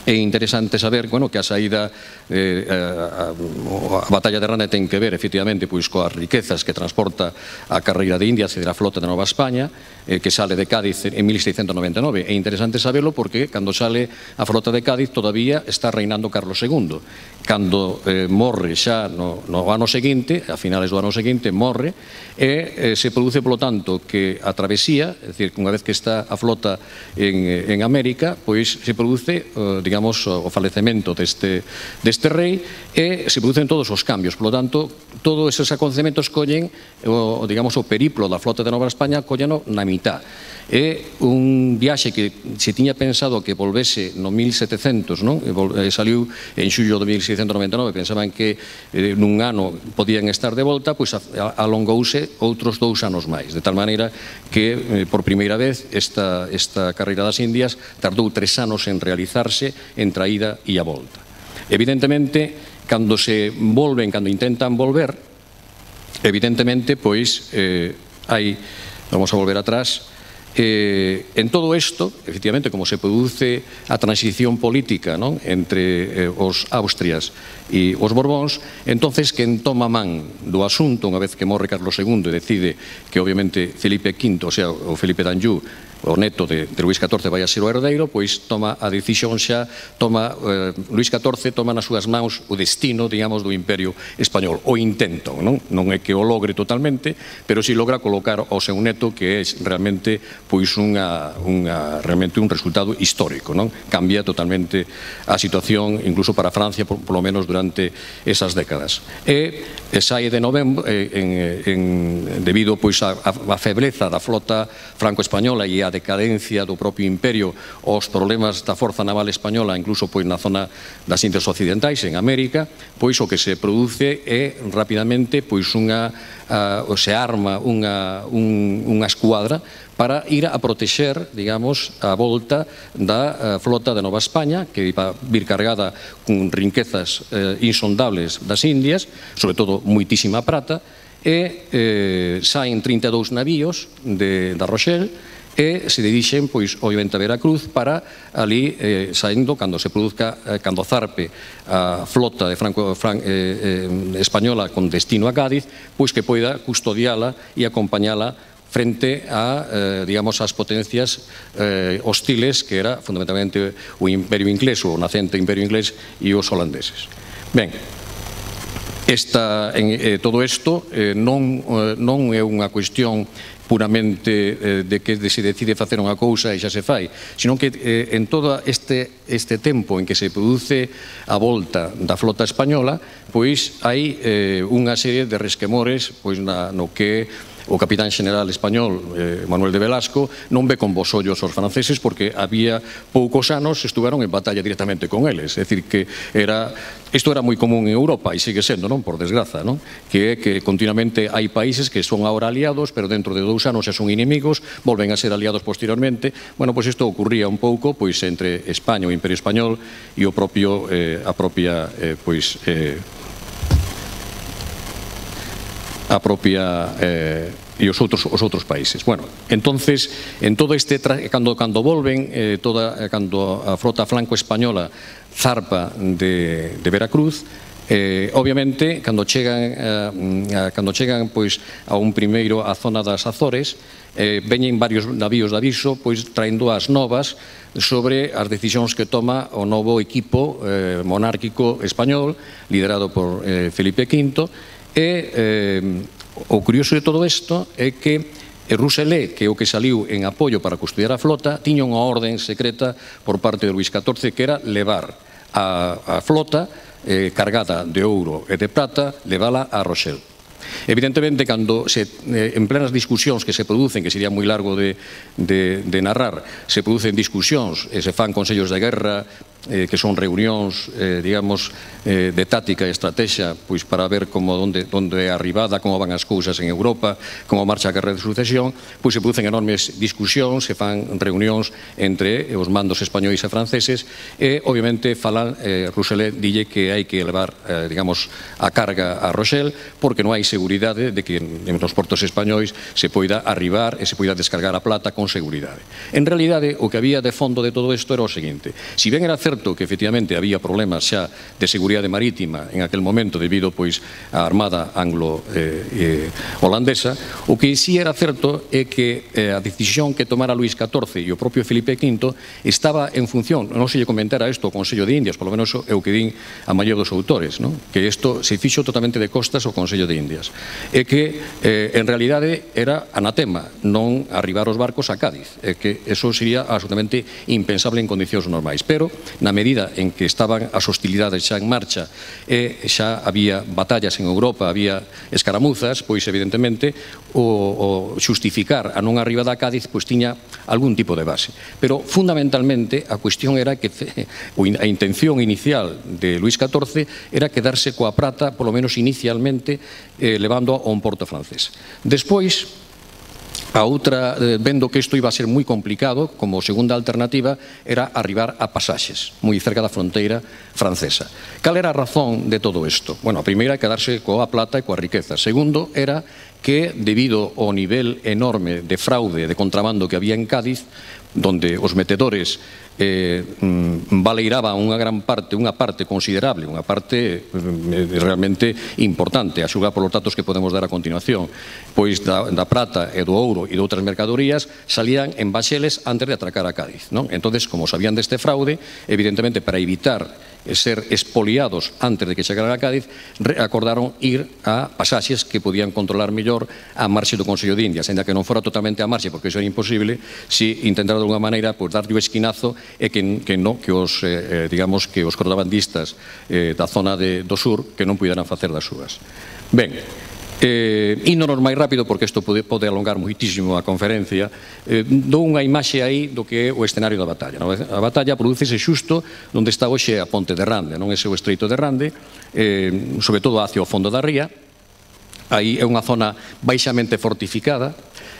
é interesante saber, bueno, que a saída eh, a, a, a batalla de Rana ten que ver, efectivamente, pois coas riquezas que transporta a carreira de Indias e da flota de Nova España, eh, que sale de Cádiz en mil seiscentos noventa e nove. É interesante saberlo porque cando sale a flota de Cádiz todavía está reinando Carlos segundo. Cando eh, morre xa no, no ano seguinte, a finales do ano seguinte, morre, e eh, se produce, polo tanto, que a travesía, é dicir, unha vez que está a flota en, en América, pois se produce, eh, digamos, o falecemento deste, deste rei e se producen todos os cambios. Por lo tanto, todos esos acontecementos collen o, digamos, o periplo da flota de Nova España colleno na mitad. É un viaxe que se tiña pensado que volvese no mil setecentos, non? E saliu en xullo de mil seiscentos noventa e nove, pensaban que eh, nun ano podían estar de volta, pois alongouse outros dous anos máis, de tal maneira que eh, por primeira vez esta, esta carreira das Indias tardou tres anos en realizarse entre a ida e a volta. Evidentemente, cando se volven, cando intentan volver, evidentemente, pois eh, hai, vamos a volver atrás. Eh, en todo isto, efectivamente, como se produce a transición política, non? Entre eh, os Austrias e os Borbóns, entonces quen toma man do asunto unha vez que morre Carlos segundo e decide que, obviamente, Felipe quinto, o sea, o Felipe d'Anjou, o neto de, de Luís catorce vai a ser o herdeiro, pois toma a decisión xa, toma, eh, Luís catorce toma nas súas mãos o destino, digamos, do Imperio Español, o intento, non? Non é que o logre totalmente, pero si logra colocar ao seu neto, que é realmente, pois, unha, unha, realmente un resultado histórico, non? Cambia totalmente a situación, incluso para Francia, por, por lo menos durante esas décadas. E, e sai de novembro, eh, en, en, debido, pois, a, a febleza da flota franco-española e a decadencia do propio imperio, os problemas da forza naval española, incluso, pois, na zona das Indias Occidentais, en América, pois o que se produce é rapidamente, pois, unha, uh, se arma unha, un, unha escuadra para ir a protexer, digamos, a volta da uh, flota de Nova España, que iba vir cargada con riquezas uh, insondables das Indias, sobre todo moitísima prata, e eh, saen trinta e dous navíos de, da Rochelle, e se dirixen, pois, obviamente, a Veracruz para ali, eh, saindo, cando se produzca, eh, cando zarpe a flota de Franco, Fran, eh, eh, española con destino a Cádiz, pois que poida custodiala e acompañala frente a, eh, digamos, as potencias eh, hostiles, que era fundamentalmente o Imperio Inglés, o nacente Imperio Inglés e os holandeses. Ben, Esta, en, eh, todo isto eh, non, eh, non é unha cuestión puramente de que se decide facer unha cousa e xa se fai, senón que en todo este, este tempo en que se produce a volta da flota española, pois hai unha serie de resquemores pois no que o capitán xeneral español, eh, Manuel de Velasco, non ve con bons ollos os franceses porque había poucos anos estuveron en batalla directamente con eles. É dicir, que era, isto era moi común en Europa e sigue sendo, non, por desgraza, non? Que é que continuamente hai países que son ahora aliados, pero dentro de dous anos xa son inimigos, volven a ser aliados posteriormente. Bueno, pois isto ocurría un pouco pois entre España, o Imperio Español e o propio, eh, a propia, eh, pois, eh, a propia eh, e os outros os outros países. Bueno, entonces, en todo este cando cando volven eh, toda cando a frota franco española zarpa de de Veracruz, eh, obviamente cando chegan eh, cando chegan pois a un primeiro a zona das Azores, eh, veñen varios navíos de aviso pois traendo as novas sobre as decisións que toma o novo equipo eh, monárquico español liderado por eh, Felipe quinto. E eh, o curioso de todo isto é que Rousselet, que é o que saliu en apoio para custodiar a flota, tiña unha orden secreta por parte de Luís catorce que era levar a, a flota eh, cargada de ouro e de prata, levala a Rochelle. Evidentemente, cando se, eh, en plenas discusións que se producen, que sería moi largo de, de, de narrar, se producen discusións e se fan consellos de guerra, eh, que son reunións, eh, digamos, eh, de táctica e estrategia, pois para ver como onde, onde é arribada, como van as cousas en Europa, como marcha a guerra de sucesión, pois se producen enormes discusións, se fan reunións entre os mandos españois e franceses, e, obviamente, falan, eh, Rousselet dille que hai que levar, eh, digamos, a carga a Rochelle, porque non hai seguridade de que nos portos españois se poida arribar e se poida descargar a plata con seguridade. En realidade, o que había de fondo de todo isto era o seguinte: si ben era certo que efectivamente había problemas xa de seguridade marítima en aquel momento debido pois á armada anglo-holandesa, o que si era certo é que a decisión que tomara Luís catorce e o propio Felipe quinto estaba en función, non se lle comentara isto ao Consello de Indias, polo menos é o que din a maior dos autores, que isto se fixo totalmente de costas ao Consello de Indias, é que en realidade era anatema non arribar os barcos a Cádiz, é que eso sería absolutamente impensable en condicións normais, pero na medida en que estaban as hostilidades xa en marcha e xa había batallas en Europa, había escaramuzas, pois evidentemente o, o xustificar a non arribada a Cádiz pois tiña algún tipo de base. Pero fundamentalmente a cuestión era que a intención inicial de Luís catorce era quedarse coa prata, polo menos inicialmente, eh, levando a un porto francés. Despois, a outra, vendo que isto iba a ser moi complicado, como segunda alternativa, era arribar a Pasaxes, moi cerca da fronteira francesa. Cal era a razón de todo isto? Bueno, a primeira é quedarse coa plata e coa riqueza. Segundo, era que, debido ao nivel enorme de fraude, de contrabando que había en Cádiz, donde os metedores eh, baleiraban unha gran parte, unha parte considerable, unha parte eh, realmente importante, a xugar polos datos que podemos dar a continuación, pois da, da prata e do ouro e de outras mercadorías salían en baxeles antes de atracar a Cádiz, non? Entonces, como sabían deste fraude, evidentemente, para evitar ser expoliados antes de que chegaran a Cádiz, acordaron ir a Pasaxes que podían controlar mellor a marxe do Consello de Indias, ainda que non fora totalmente a marxe, porque iso era imposible, si intentara de alguna maneira pues, darlle o esquinazo e que, que, no, que os, eh, digamos, que os contrabandistas eh, da zona de, do sur que non puderan facer das súas. Ben, Eh, ínonos máis rápido porque isto pode, pode alongar moitísimo a conferencia, eh, dou unha imaxe aí do que é o escenario da batalla, no? A batalla prodúcese xusto onde está hoxe a ponte de Rande, non é o estreito de Rande, eh, sobre todo hacia o fondo da ría. Aí é unha zona baixamente fortificada.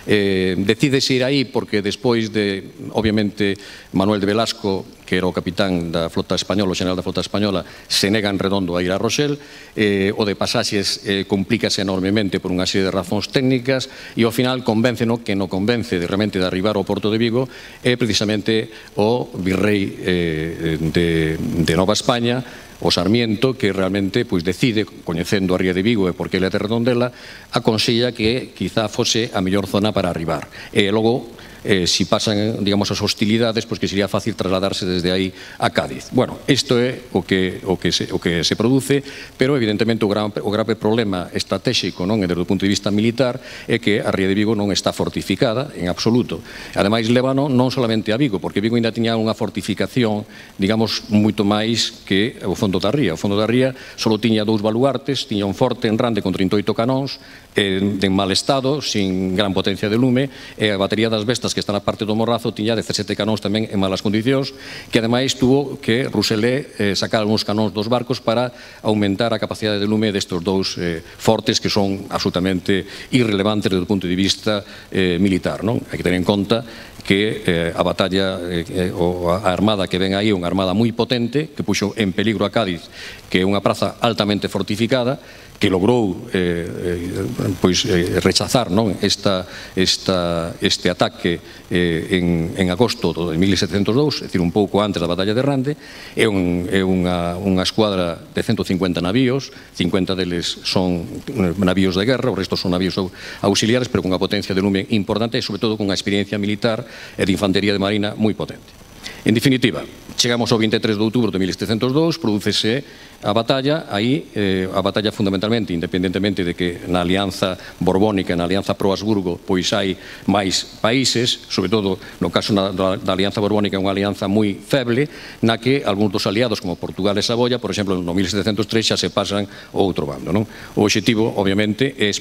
Eh, decídese ir aí porque despois de, obviamente, Manuel de Velasco, que era o capitán da flota española, o xeneral da flota española, se nega en redondo a ir a Rochelle, eh, o de Pasaxes eh, complícase enormemente por unha serie de razóns técnicas e ao final convénceno que non convence de realmente de arribar ao Porto de Vigo é precisamente o virrei eh, de, de Nova España, o Sarmiento, que realmente pois, decide, coñecendo a ría de Vigo e porque ele é de Redondela, aconsella que quizá fose a mellor zona para arribar. E logo eh, si pasan, digamos, as hostilidades, pois que sería fácil trasladarse desde aí a Cádiz. Bueno, isto é o que, o que, se, o que se produce, pero evidentemente o, gran, o grave problema estratégico, non, desde o punto de vista militar, é que a ría de Vigo non está fortificada en absoluto. Ademais, lévano non solamente a Vigo, porque Vigo ainda tiña unha fortificación, digamos, moito máis que o fondo da ría. O fondo da ría só tiña dous baluartes, tiña un forte en Rande con trinta e oito canóns, en mal estado, sin gran potencia de lume, e a batería das Bestas, que está na parte do Morrazo, tiña dezasete canóns tamén en malas condicións, que ademais tuvo que Rousselé eh, sacar algúns canóns dos barcos para aumentar a capacidade de lume destes dous eh, fortes que son absolutamente irrelevantes desde o punto de vista eh, militar, non? Hai que ter en conta que eh, a batalla, eh, ou a armada que ven aí é unha armada moi potente, que puxo en peligro a Cádiz, que é unha praza altamente fortificada, que logrou eh, eh, pois, eh, rechazar, non, esta, esta, este ataque eh, en, en agosto de mil setecentos e dous, é dicir, un pouco antes da batalla de Rande. É, un, é unha, unha escuadra de ciento cincuenta navíos, cincuenta deles son navíos de guerra, o resto son navíos auxiliares, pero con unha potencia de lume importante e, sobre todo, con unha experiencia militar e de infantería de marina moi potente. En definitiva, chegamos ao vinte e tres de outubro de mil setecentos e dous, prodúcese a batalla, aí eh, a batalla fundamentalmente, independentemente de que na alianza borbónica, na alianza pro-Habsburgo, pois hai máis países, sobre todo no caso na, da, da alianza borbónica é unha alianza moi feble, na que algúns dos aliados como Portugal e Saboya, por exemplo, no mil setecentos e tres xa se pasan ao outro bando, non? O obxectivo, obviamente, é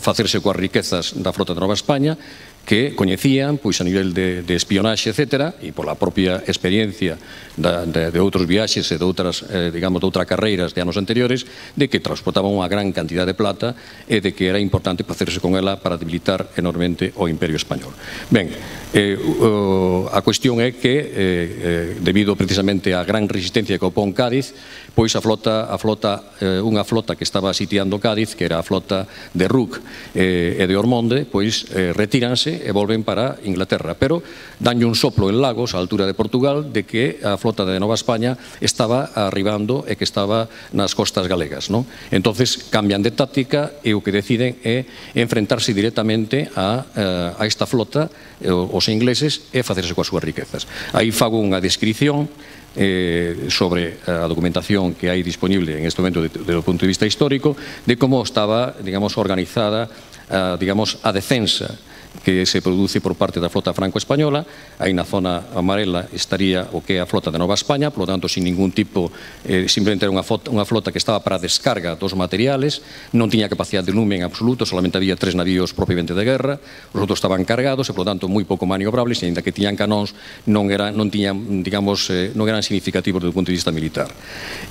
facerse coas riquezas da frota de Nova España, que coñecían, pois a nivel de, de espionaxe, etcétera, e pola propia experiencia da, de, de outros viaxes e de outras, eh, digamos, de outras carreiras de anos anteriores, de que transportaban unha gran cantidad de plata e de que era importante facerse con ela para debilitar enormemente o Imperio Español. Ben, eh, o, a cuestión é que, eh, eh, debido precisamente á gran resistencia que opón Cádiz, pois a flota, a flota eh, unha flota que estaba sitiando Cádiz, que era a flota de Rooke eh, e de Ormonde, pois eh, retíranse e volven para Inglaterra, pero danlle un soplo en Lagos, á altura de Portugal, de que a flota de Nova España estaba arribando e que estaba nas costas galegas, non? Entonces cambian de táctica e o que deciden é enfrentarse directamente a, a esta flota, os ingleses, e facerse coas súas riquezas. Aí fago unha descripción Eh, sobre a documentación que hai disponible en este momento desde o punto de vista histórico de como estaba, digamos, organizada a, digamos, a defensa que se produce por parte da flota franco-española. Aí na zona amarela estaría o que é a flota de Nova España, por lo tanto, sin ningún tipo, eh, simplemente era unha flota, unha flota que estaba para a descarga dos materiales, non tiña capacidade de lume en absoluto, solamente había tres navíos propiamente de guerra, os outros estaban cargados e, por lo tanto, moi pouco maniobrables, e ainda que tiñan canóns, non, era, non tiñan, digamos, eh, non eran significativos desde o punto de vista militar.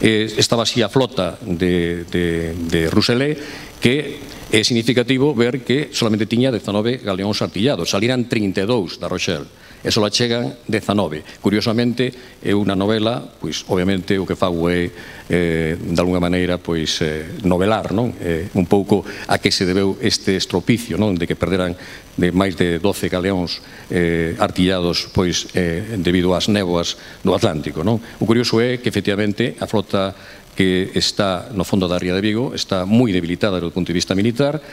Eh, estaba así a flota de, de, de Rousselé, que é significativo ver que solamente tiña dezanove galeóns artillados, saliran trinta e dous da Rochelle, e só chegan dezanove. Curiosamente, é unha novela, pois, obviamente, o que fago é, eh, de alguna maneira, pois, eh, novelar, non? Eh, un pouco a que se debeu este estropicio, non? De que perderan de máis de doce galeóns eh, artillados, pois, eh, debido ás néboas do Atlántico, non? O curioso é que, efectivamente, a flota que está no fondo da ría de Vigo está moi debilitada do punto de vista militar,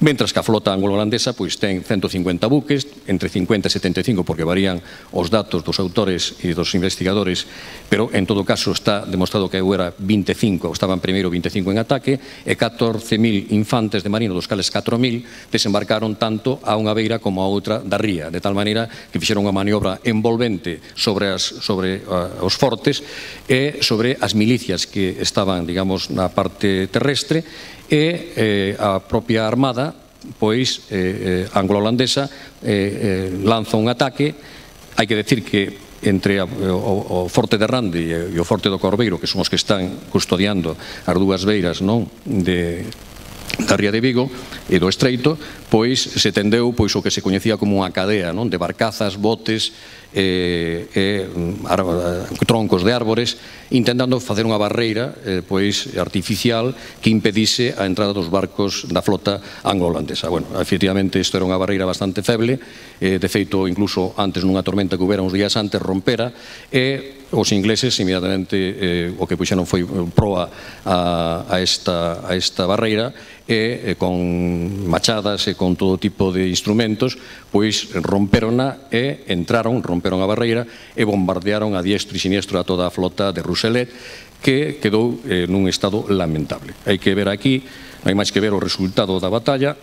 mentras que a flota anglo-holandesa pois ten ciento cincuenta buques, entre cincuenta e setenta e cinco, porque varían os datos dos autores e dos investigadores, pero en todo caso está demostrado que era vinte e cinco, estaban primeiro vinte e cinco en ataque, e catorce mil infantes de marino, dos cales catro mil desembarcaron tanto a unha beira como a outra da ría, de tal maneira que fixeron unha maniobra envolvente sobre, as, sobre uh, os fortes e sobre as milicias que estaban, digamos, na parte terrestre, e eh, a propia armada, pois, eh, eh, anglo-holandesa, eh, eh, lanza un ataque. Hai que decir que entre a, o, o Forte de Rande e o Forte do Corbeiro, que son os que están custodiando as dúas beiras, non, de da ría de Vigo e do Estreito, pois se tendeu pois o que se coñecía como unha cadea, non, de barcazas, botes e troncos de árbores, intentando facer unha barreira artificial que impedise a entrada dos barcos da flota anglo-holandesa. Bueno, efectivamente, isto era unha barreira bastante feble, de feito, incluso antes nunha tormenta que houbera uns días antes, rompera, e os ingleses inmediatamente o que puxeron foi proa a esta barreira, e con machadas e con todo tipo de instrumentos, pois romperona e entraron, romperon a barreira e bombardearon a diestro e siniestro a toda a flota de Rousselet, que quedou nun estado lamentable. Hai que ver aquí, non hai máis que ver o resultado da batalla.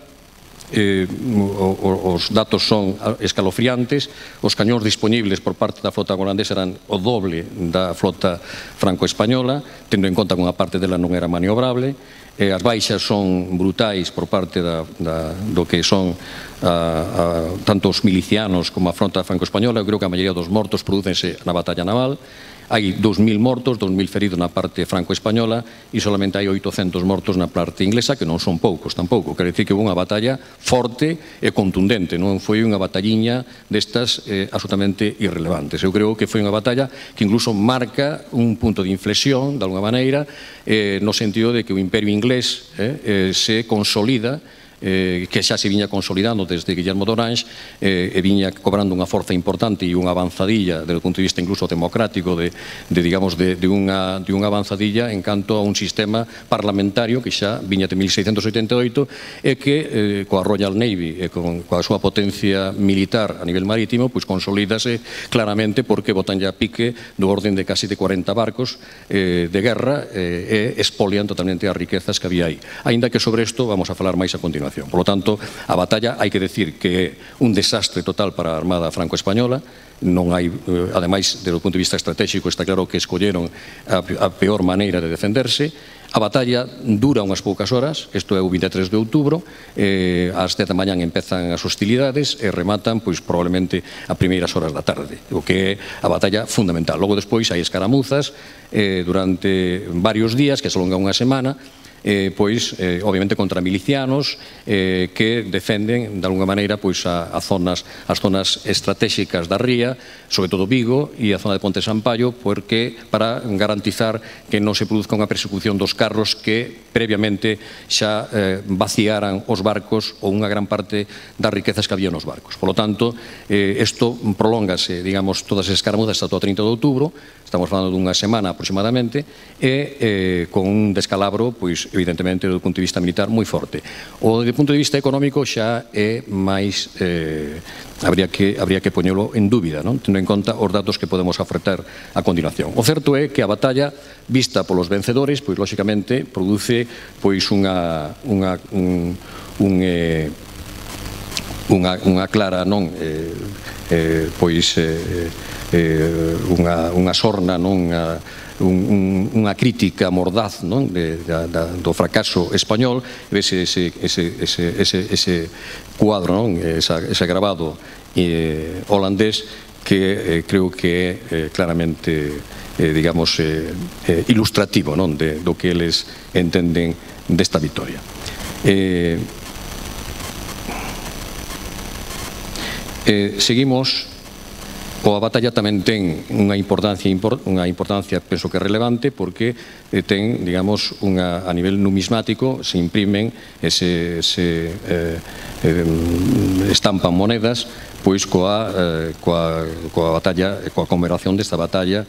Os datos son escalofriantes. Os cañóns disponibles por parte da flota holandesa eran o doble da flota franco-española, tendo en conta que unha parte dela non era maniobrable. As baixas son brutais por parte do que son tanto os milicianos como a fronte franco-española. Eu creo que a maioría dos mortos prodúcense na batalla naval. Hai dous mil mortos, dous mil feridos na parte franco-española e solamente hai oitocentos mortos na parte inglesa, que non son poucos tampouco. Quer dicir que houve unha batalla forte e contundente, non foi unha batalliña destas absolutamente irrelevantes. Eu creo que foi unha batalla que incluso marca un punto de inflexión, de alguna maneira, no sentido de que o imperio inglés se consolida, que xa se viña consolidando desde Guillermo d'Orange e viña cobrando unha forza importante e unha avanzadilla desde o punto de vista incluso democrático de unha avanzadilla en canto a un sistema parlamentario que xa viña de mil seiscentos oitenta e oito e que coa Royal Navy e coa súa potencia militar a nivel marítimo pois consolídase claramente porque botan ya pique do orden de casi de cuarenta barcos de guerra e expolian totalmente as riquezas que había aí. Aínda que sobre isto vamos a falar máis a continuación. Por lo tanto, a batalla hai que decir que é un desastre total para a Armada franco-española. Non hai, ademais, desde o punto de vista estratégico, está claro que escolleron a peor maneira de defenderse. A batalla dura unhas poucas horas, isto é o vinte e tres de outubro, ás dez da mañán empezan as hostilidades e rematan, pois, probablemente a primeiras horas da tarde, o que é a batalla fundamental. Logo, despois, hai escaramuzas durante varios días, que se alonga unha semana, pois, obviamente, contra milicianos que defenden, de alguna maneira, as zonas estratégicas da ría, sobre todo Vigo e a zona de Ponte Sampaio, porque para garantizar que non se produzca unha persecución dos carros que previamente xa vaciaran os barcos ou unha gran parte das riquezas que había nos barcos. Por lo tanto, isto prolóngase, digamos, todas as escaramuzas hasta o trinta de outubro, estamos falando dunha semana aproximadamente, e con un descalabro, pois, evidentemente, do punto de vista militar moi forte. O do punto de vista económico xa é máis, habría que poñelo en dúbida, tendo en conta os datos que podemos ofertar a continuación. O certo é que a batalla vista polos vencedores, pois, lóxicamente, produce pois unha unha unha clara non pois unha sorna non unha crítica mordaz do fracaso español, ese cuadro, ese grabado holandés que creo que é claramente, digamos, ilustrativo do que eles entenden desta victoria. Seguimos. A batalla tamén ten unha importancia, unha importancia, penso que relevante, porque ten, digamos, a nivel numismático, se imprimen, se estampan monedas, pois coa batalla, coa conmemoración desta batalla,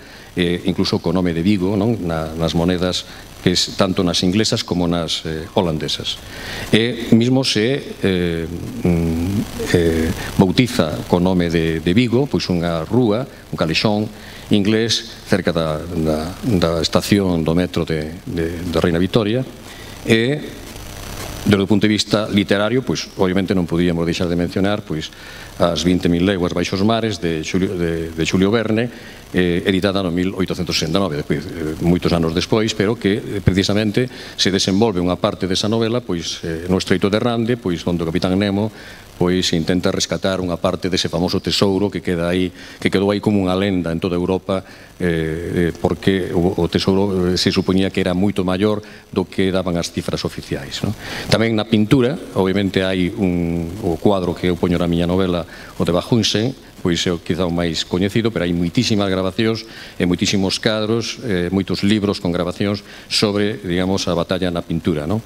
incluso co nome de Vigo, nas monedas que tanto nas inglesas como nas holandesas. E mesmo se bautiza co nome de Vigo, pois unha rúa, un calexón inglés cerca da estación do metro de Reina Vitoria, e desde o punto de vista literario, pois obviamente non podíamos deixar de mencionar pois as vinte mil leguas baixo os mares de Xulio Verne, editada no mil oitocentos sesenta e nove, moitos anos despois, pero que precisamente se desenvolve unha parte desa novela pois no Estreito de Rande, pois onde o Capitán Nemo pois intenta rescatar unha parte dese famoso tesouro que queda aí, que quedou aí como unha lenda en toda Europa, porque o tesouro se supoñía que era moito maior do que daban as cifras oficiais. Tamén na pintura, obviamente hai o cuadro que eu poño na miña novela, o de Bahunsen, pois é quizá o máis coñecido, pero hai moitísimas grabacións e moitísimos cadros, eh, moitos libros con grabacións sobre, digamos, a batalla na pintura, non?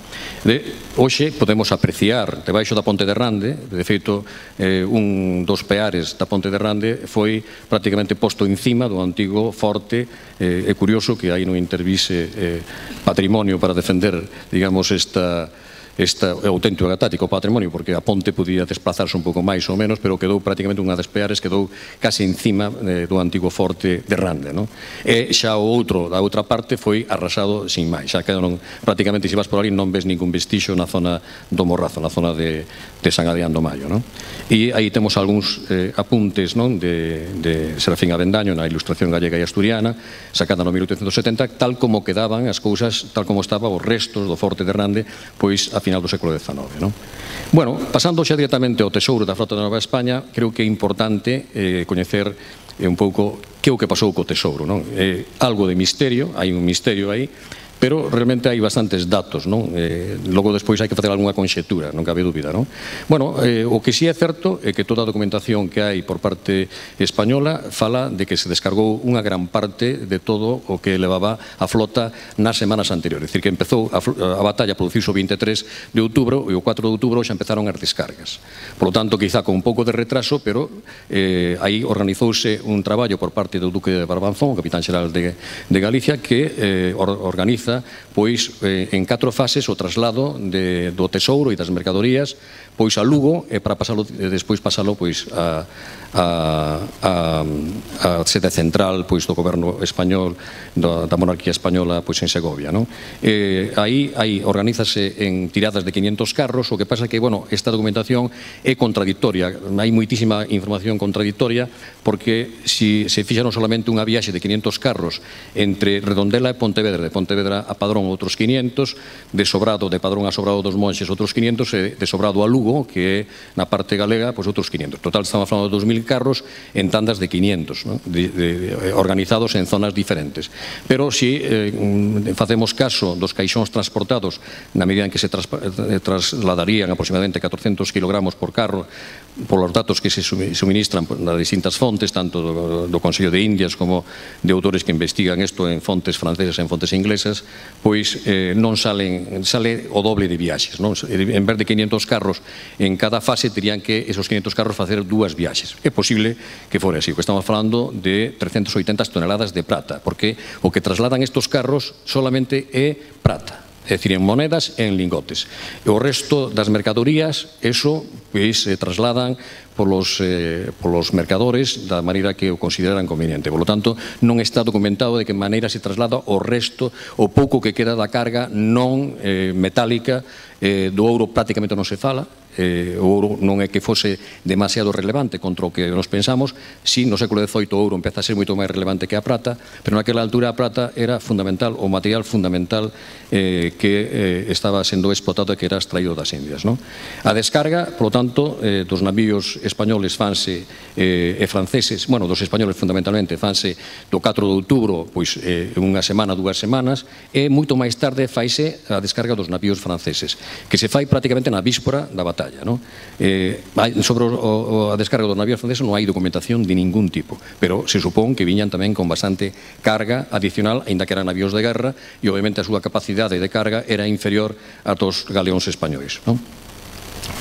De, hoxe podemos apreciar debaixo da Ponte de Rande, de feito, eh, un dos peares da Ponte de Rande foi prácticamente posto encima do antigo forte. Eh, é curioso que aí non intervise eh, patrimonio para defender, digamos, esta este auténtico e atático patrimonio, porque a ponte podía desplazarse un pouco máis ou menos, pero quedou prácticamente unha das peares, quedou case encima eh, do antigo forte de Rande, non? E xa o outro, da outra parte, foi arrasado sin máis, xa quedaron prácticamente, se vas por ali, non ves ningún vestixo na zona do Morrazo, na zona de, de San Adrián do Maio, non? E aí temos algúns eh, apuntes, non, de, de Serafín Avendaño na Ilustración gallega e asturiana, sacada no mil oitocentos setenta, tal como quedaban as cousas, tal como estaba os restos do forte de Rande, pois a final do século dezenove, non? Bueno, pasando xa directamente ao tesouro da Frota de Nova España, creo que é importante eh, coñecer eh, un pouco que é o que pasou co tesouro, non? Eh, algo de misterio, hai un misterio aí, pero realmente hai bastantes datos, non? Eh, logo despois hai que facer algunha conxectura, non cabe dúbida, non? Bueno, eh, o que si é certo é que toda a documentación que hai por parte española fala de que se descargou unha gran parte de todo o que levaba a flota nas semanas anteriores. É dicir, que empezou a, a batalla, produciuse o vinte e tres de outubro e o catro de outubro xa empezaron as descargas. Por lo tanto, quizá con un pouco de retraso, pero eh, aí organizouse un traballo por parte do Duque de Barbanzón, o capitán xeral de, de Galicia, que eh, or, organiza pois eh, en catro fases o traslado de, do tesouro e das mercadorías pois a Lugo e para pasalo, e despois pasalo pois a, a, a, a sede central pois do goberno español, da, da monarquía española pois en Segovia, non? Eh, aí, aí organízase en tiradas de quinientos carros, o que pasa que, bueno, esta documentación é contradictoria, hai moitísima información contradictoria, porque si se fixaron solamente unha viaxe de quinientos carros entre Redondela e Pontevedra, de Pontevedra a Padrón outros quinientos, de Sobrado, de Padrón a Sobrado dos Monxes outros quinientos, e de Sobrado a Lugo, que é na parte galega, pois outros quinientos. Total, estamos falando de dos mil carros en tandas de quinientos, ¿no? de, de, de, organizados en zonas diferentes. Pero si eh, facemos caso dos caixóns transportados, na medida en que se tras, eh, trasladarían aproximadamente catorcentos kilogramos por carro, por os datos que se suministran nas distintas fontes, tanto do, do Consello de Indias como de autores que investigan isto en fontes francesas e en fontes inglesas, pois eh, non salen, sale o doble de viaxes, non? En vez de quinientos carros en cada fase, terían que esos quinientos carros facer dúas viaxes. É posible que fora así, porque estamos falando de trescentas oitenta toneladas de prata, porque o que trasladan estos carros solamente é prata, é dicir, en monedas e en lingotes. E o resto das mercadorías, eso, pois, se trasladan polos, eh, polos mercadores da maneira que o consideran conveniente. Por lo tanto, non está documentado de que maneira se traslada o resto, o pouco que queda da carga non eh, metálica. Eh, do ouro prácticamente non se fala, eh, o ouro non é que fose demasiado relevante contra o que nos pensamos. Si no século dezoito o ouro empeza a ser moito máis relevante que a prata, pero naquela altura a prata era fundamental, o material fundamental eh, que eh, estaba sendo explotado e que era extraído das Indias, non? A descarga, polo tanto, eh, dos navíos españoles fanse eh, e franceses, bueno, dos españoles fundamentalmente fanse do catro de outubro, pois eh, unha semana, dúas semanas, e moito máis tarde faise a descarga dos navíos franceses, que se fai prácticamente na víspora da batalla, non? Eh, sobre o, o, a descarga dos navíos franceses non hai documentación de ningún tipo, pero se supón que viñan tamén con bastante carga adicional, aínda que eran navíos de guerra, e obviamente a súa capacidade de carga era inferior a dos galeóns españois, non?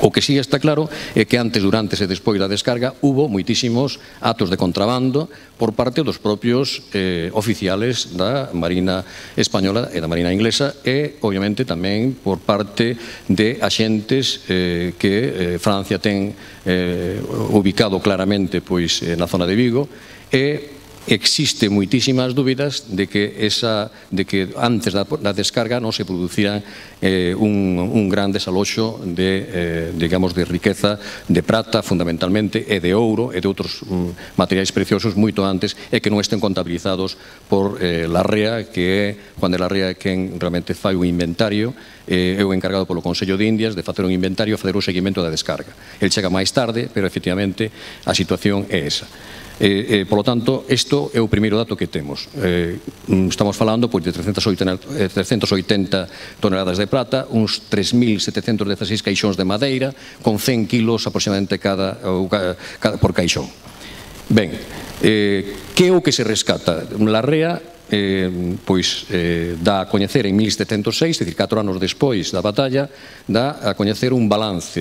O que sí está claro é que antes, durante e despois da descarga hubo moitísimos atos de contrabando por parte dos propios eh, oficiales da Marina Española e da Marina Inglesa, e obviamente tamén por parte de axentes eh, que eh, Francia ten eh, ubicado claramente pois eh, na zona de Vigo, e existe moitísimas dúbidas de que, esa, de que antes da, da descarga non se producira eh, un, un gran desaloxo de, eh, digamos, de riqueza de prata fundamentalmente, e de ouro e de outros um, materiais preciosos moito antes, e que non estén contabilizados por eh, Larrea, que é Juan de Larrea quen realmente fai un inventario, eh, é o encargado polo Consello de Indias de facer un inventario e facer o seguimento da descarga. El chega máis tarde, pero efectivamente a situación é esa. Eh, eh, por lo tanto, isto é o primeiro dato que temos. Eh, estamos falando pois, de trescentas oitenta toneladas de prata, uns tres mil setecentos dezasseis caixóns de madeira, con cen kilos aproximadamente cada, cada, por caixón. Ben, que é o que se rescata? La Rea pois dá a coñecer en mil setecentos e seis, é dicir, catro anos despois da batalla, dá a coñecer un balance,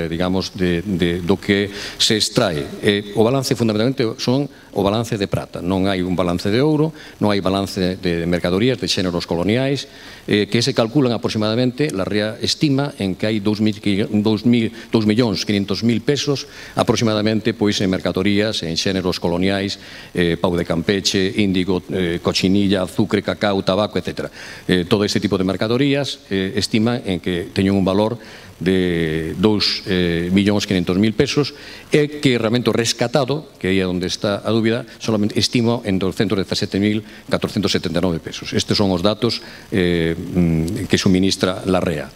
digamos, do que se extrae. O balance fundamentalmente son o balance de prata, non hai un balance de ouro, non hai balance de mercadorías, de xéneros coloniais, que se calculan aproximadamente, la Rea estima en que hai dous millóns quinhentos mil pesos aproximadamente pois en mercadorías, en xéneros coloniais, pau de Campeche, índigo, cochinilla, azúcar, cacao, tabaco, etcétera. Todo este tipo de mercadorías estima en que teñen un valor de dous millóns quinhentos mil pesos e que realmente o rescatado, que aí é onde está a dúbida, solamente estima en doscientos dezasete mil catrocentos setenta e nove pesos. Estes son os datos que suministra la Rea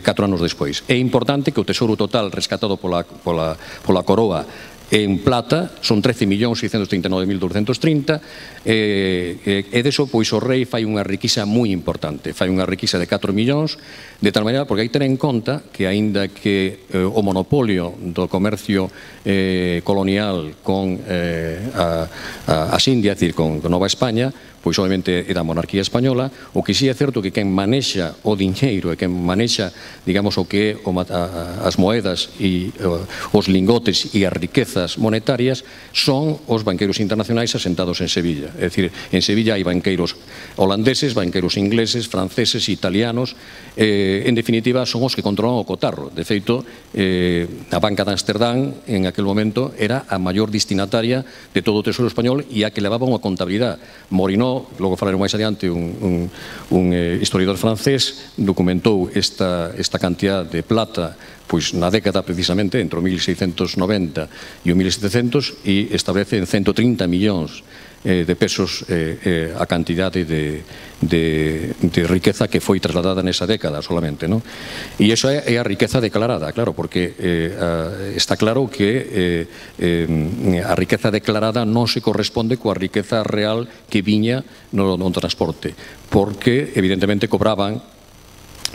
catro anos despois. É importante que o tesouro total rescatado pola coroa en plata son trece millóns seiscentos trinta e nove mil douscentos trinta e deso pois o rei fai unha riqueza moi importante, fai unha riqueza de catro millóns, de tal maneira, porque hai que ter en conta que aínda que o monopolio do comercio colonial con as Indias, é dicir, con Nova España, pois obviamente é da monarquía española, o que si é certo que quen manexa o dinheiro e quen manexa, digamos, o que é as moedas e os lingotes e as riquezas monetarias son os banqueiros internacionais asentados en Sevilla. É dicir, en Sevilla hai banqueiros holandeses, banqueiros ingleses, franceses, italianos, en definitiva son os que controlan o cotarro. De feito, a Banca de Amsterdam en aquel momento era a maior destinataria de todo o tesouro español e a que levaba unha contabilidade. Morinó, logo falaremos máis adiante, un historiador francés, documentou esta cantidad de plata pois na década precisamente entre o mil seiscentos noventa e o mil setecentos e establece en ciento trinta millóns de pesos a cantidade de riqueza que foi trasladada nesa década solamente. E iso é a riqueza declarada, claro, porque está claro que a riqueza declarada non se corresponde coa riqueza real que viña no transporte, porque evidentemente cobraban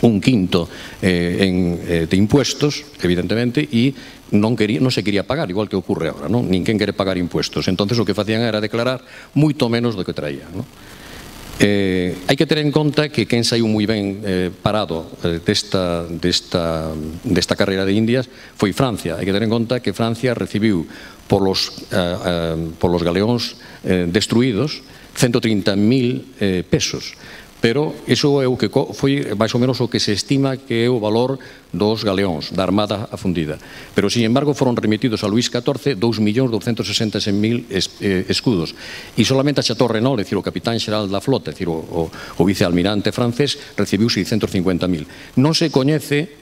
un quinto de impuestos, evidentemente, e non se quería pagar, igual que ocurre agora, ninguén quere pagar impuestos. Entonces o que facían era declarar moito menos do que traía. Hai que ter en conta que quen saiu moi ben parado desta carreira de Indias foi Francia. Hai que ter en conta que Francia recibiu polos galeóns destruídos ciento trinta mil pesos. Pero iso é o que foi máis ou menos o que se estima que é o valor dos galeóns, da armada afundida. Pero, sin embargo, foron remitidos a Luís catorce dous millóns douscentos sesenta e seis mil escudos. E solamente a Chateau Renaud, é dicir, o capitán xeral da flota, é dicir, o vicealmirante francés, recibiu seiscentos cincuenta mil. Non se coñece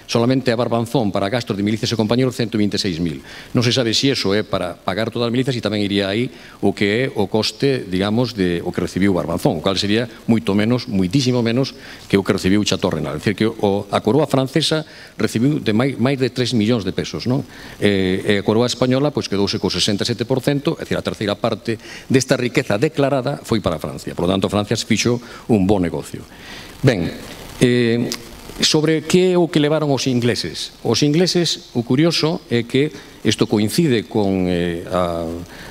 solamente a Barbanzón para gastos de milicias e compañeros ciento vinte e seis mil. Non se sabe se iso é para pagar todas as milicias e tamén iría aí o que é o coste, digamos, de o que recibiu Barbanzón, o cual sería moito menos, moitísimo menos que o que recibiu Chateau Renaud. É dicir, que a coroa francesa recibiu de máis de tres millóns de pesos, non? E a coroa española pois quedouse co sesenta e sete por cento, é dicir, a terceira parte desta riqueza declarada foi para Francia. Por lo tanto, Francia fixo un bon negocio. Ben, sobre que é o que levaron os ingleses? Os ingleses, o curioso é que isto coincide con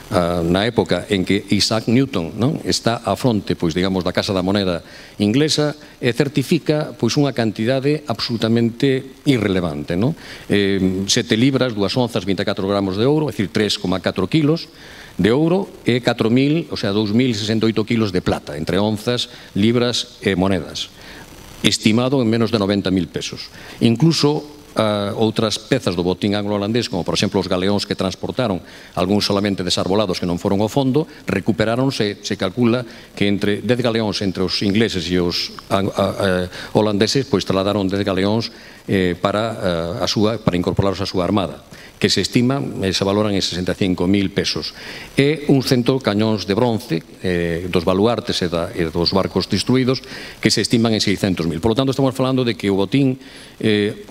na época en que Isaac Newton está á fronte, pois, digamos, da Casa da Moneda inglesa e certifica pois unha cantidade absolutamente irrelevante, sete libras, dúas onzas, vinte e catro gramos de ouro, é dicir, tres coma catro kilos de ouro e catro mil, o sea, dous mil sesenta e oito kilos de plata, entre onzas, libras e monedas, estimado en menos de noventa mil pesos. Incluso outras pezas do botín anglo-holandés, como por exemplo os galeóns que transportaron, algúns solamente desarbolados que non foron ao fondo, recuperáronse, se calcula que entre dez galeóns entre os ingleses e os holandeses, pois trasladaron dez galeóns para incorporarlos á súa armada, que se estima, se valoran en sesenta e cinco mil pesos. E un cento cañóns de bronce dos baluartes e dos barcos destruídos que se estiman en seiscentos mil. Por lo tanto, estamos falando de que o botín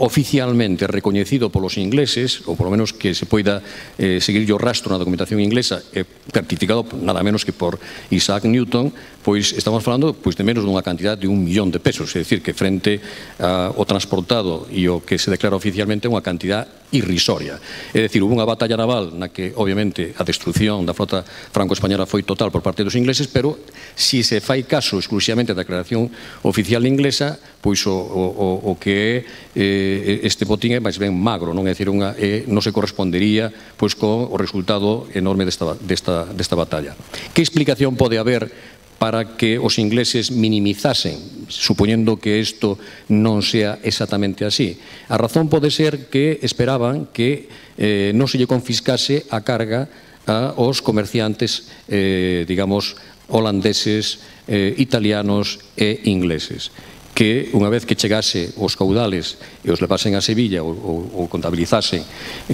oficialmente recoñecido polos ingleses, ou polo menos que se poida seguir o rastro na documentación inglesa, certificado nada menos que por Isaac Newton, pois estamos falando de menos dunha cantidad de un millón de pesos, é dicir, que frente ao transportado Estado e o que se declara oficialmente é unha cantidad irrisoria. É dicir, hubo unha batalla naval na que, obviamente, a destrucción da flota franco-española foi total por parte dos ingleses, pero se se fai caso exclusivamente da declaración oficial inglesa, pois o, o, o que é eh, este botín é máis ben magro, non é dicir, unha, eh, non se correspondería pois co o resultado enorme desta, desta, desta batalla. Que explicación pode haber para que os ingleses minimizasen, supoñendo que isto non sea exactamente así? A razón pode ser que esperaban que eh, non se lle confiscase a carga aos comerciantes, eh, digamos, holandeses, eh, italianos e ingleses, que unha vez que chegase os caudales e os levasen a Sevilla ou, ou, ou contabilizasen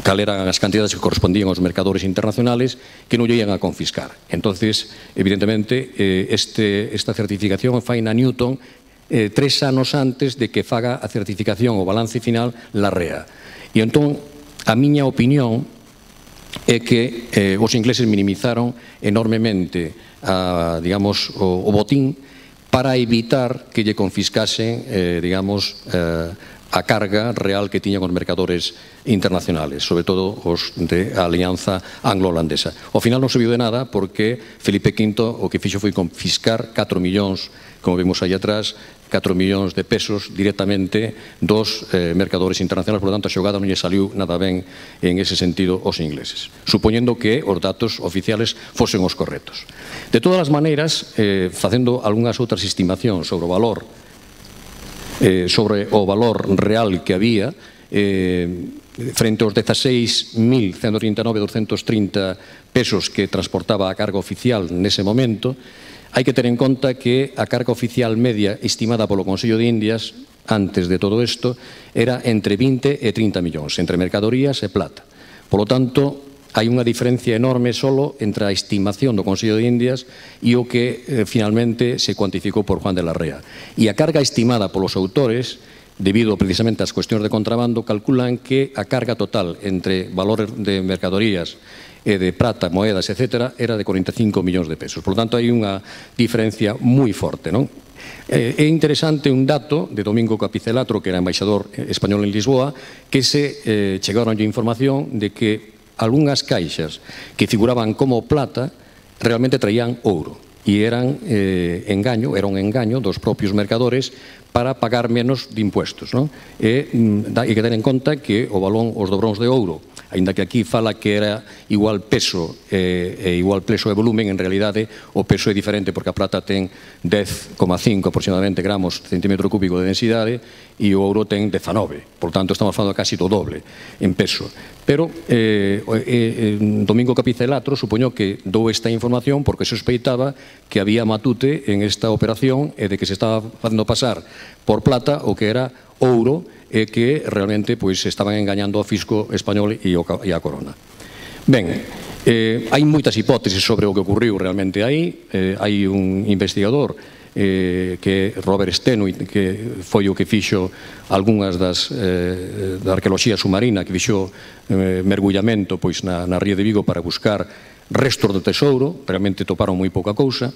cal eran as cantidades que correspondían aos mercadores internacionales, que non lle ian a confiscar. Entonces, evidentemente, eh, este, esta certificación fai na Newton eh, tres anos antes de que faga a certificación o balance final la R E A. E entón, a miña opinión é que eh, os ingleses minimizaron enormemente a, digamos, o, o botín para evitar que lle confiscasen, eh, digamos, eh, a carga real que tiñan os mercadores internacionales, sobre todo os de a alianza anglo-holandesa. Ao final non serviu de nada porque Felipe quinto o que fixo foi confiscar catro millóns, como vemos aí atrás, catro millóns de pesos directamente dos eh, mercadores internacionales. Por lo tanto, a xogada non lle saliu nada ben en ese sentido aos ingleses, supoñendo que os datos oficiales fosen os correctos. De todas as maneiras, eh, facendo algunhas outras estimacións sobre o valor eh, sobre o valor real que había, eh, frente aos dezaseis mil ciento trinta e nove mil doscientos trinta pesos que transportaba a carga oficial nese momento, hai que ter en conta que a carga oficial media estimada polo Consello de Indias antes de todo isto era entre vinte e trinta millóns, entre mercadorías e plata. Por lo tanto, hai unha diferencia enorme solo entre a estimación do Consello de Indias e o que eh, finalmente se cuantificou por Juan de la Rea. E a carga estimada polos autores, debido precisamente ás cuestións de contrabando, calculan que a carga total entre valores de mercadorías e de prata, moedas, etcétera, era de cuarenta e cinco millóns de pesos. Por lo tanto, hai unha diferencia moi forte, non? É interesante un dato de Domingo Capicelatro, que era embaixador español en Lisboa, que se eh, chegaron a información de que algunhas caixas que figuraban como plata realmente traían ouro e eran eh, engaño, era un engaño dos propios mercadores para pagar menos de impuestos, non? E hai que ter en conta que o valón, os dobróns de ouro, aínda que aquí fala que era igual peso e igual peso e volumen, en realidade o peso é diferente porque a plata ten dez coma cinco aproximadamente gramos centímetro cúbico de densidade e o ouro ten dezanove, por tanto estamos falando casi do doble en peso. Pero eh, eh, Domingo Capicelatro supoño que dou esta información porque sospeitaba que había matute en esta operación e de que se estaba facendo pasar por plata o que era ouro e que realmente pois estaban engañando ao fisco español e a corona. Ben, eh, hai moitas hipótesis sobre o que ocurriu realmente aí. Eh, hai un investigador eh, que é Robert Stenoy, que foi o que fixo algunhas das eh, da arqueoloxía submarina, que fixo eh, mergullamento pois na, na ría de Vigo para buscar restos do tesouro. Realmente toparon moi pouca cousa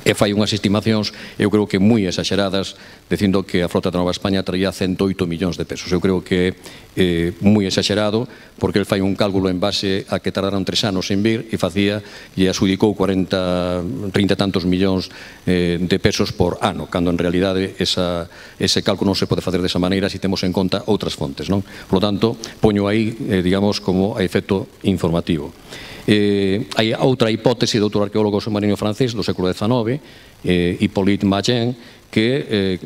e fai unhas estimacións, eu creo que moi exaxeradas, dicindo que a frota da Nova España traía ciento oito millóns de pesos. Eu creo que é eh, moi exaxerado, porque el fai un cálculo en base a que tardaron tres anos en vir e facía e adxudicou cuarenta, trinta e tantos millóns eh, de pesos por ano, cando en realidade esa, ese cálculo non se pode facer desa maneira se temos en conta outras fontes, non? Por lo tanto, poño aí, eh, digamos, como a efecto informativo. Eh, hai outra hipótese de outro arqueólogo submarino francés do século dezenove, eh, Hippolyte Magen, que eh,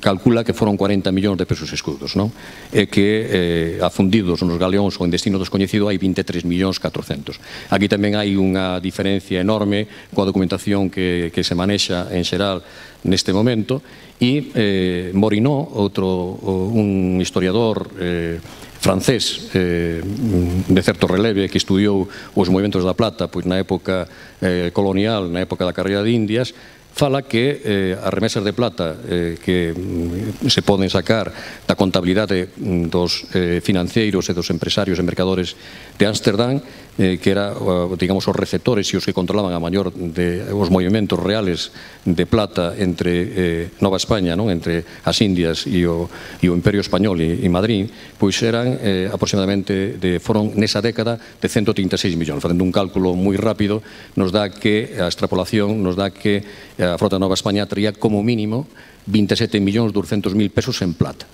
calcula que foron cuarenta millóns de pesos escudos, non? E que eh, afundidos nos galeóns ou en destino descoñecido hai vinte e tres millóns catrocentos. Aquí tamén hai unha diferencia enorme coa documentación que, que se manexa en xeral neste momento e eh, Morinot, outro un historiador eh, francés eh, de certo releve que estudiou os movimentos da plata pois na época eh, colonial, na época da carreira de Indias, fala que eh, as remesas de plata eh, que mm, se poden sacar da contabilidade dos eh, financeiros e dos empresarios e mercadores de Ámsterdam que era, digamos, os receptores e os que controlaban a maior de os movimentos reales de plata entre Nova España, entre as Indias e o Imperio Español e Madrid, pois eran aproximadamente, foron nesa década de ciento trinta e seis millóns. Facendo un cálculo moi rápido, nos dá que a extrapolación nos dá que a frota de Nova España traía como mínimo veinte e sete millóns doscientos mil pesos en plata.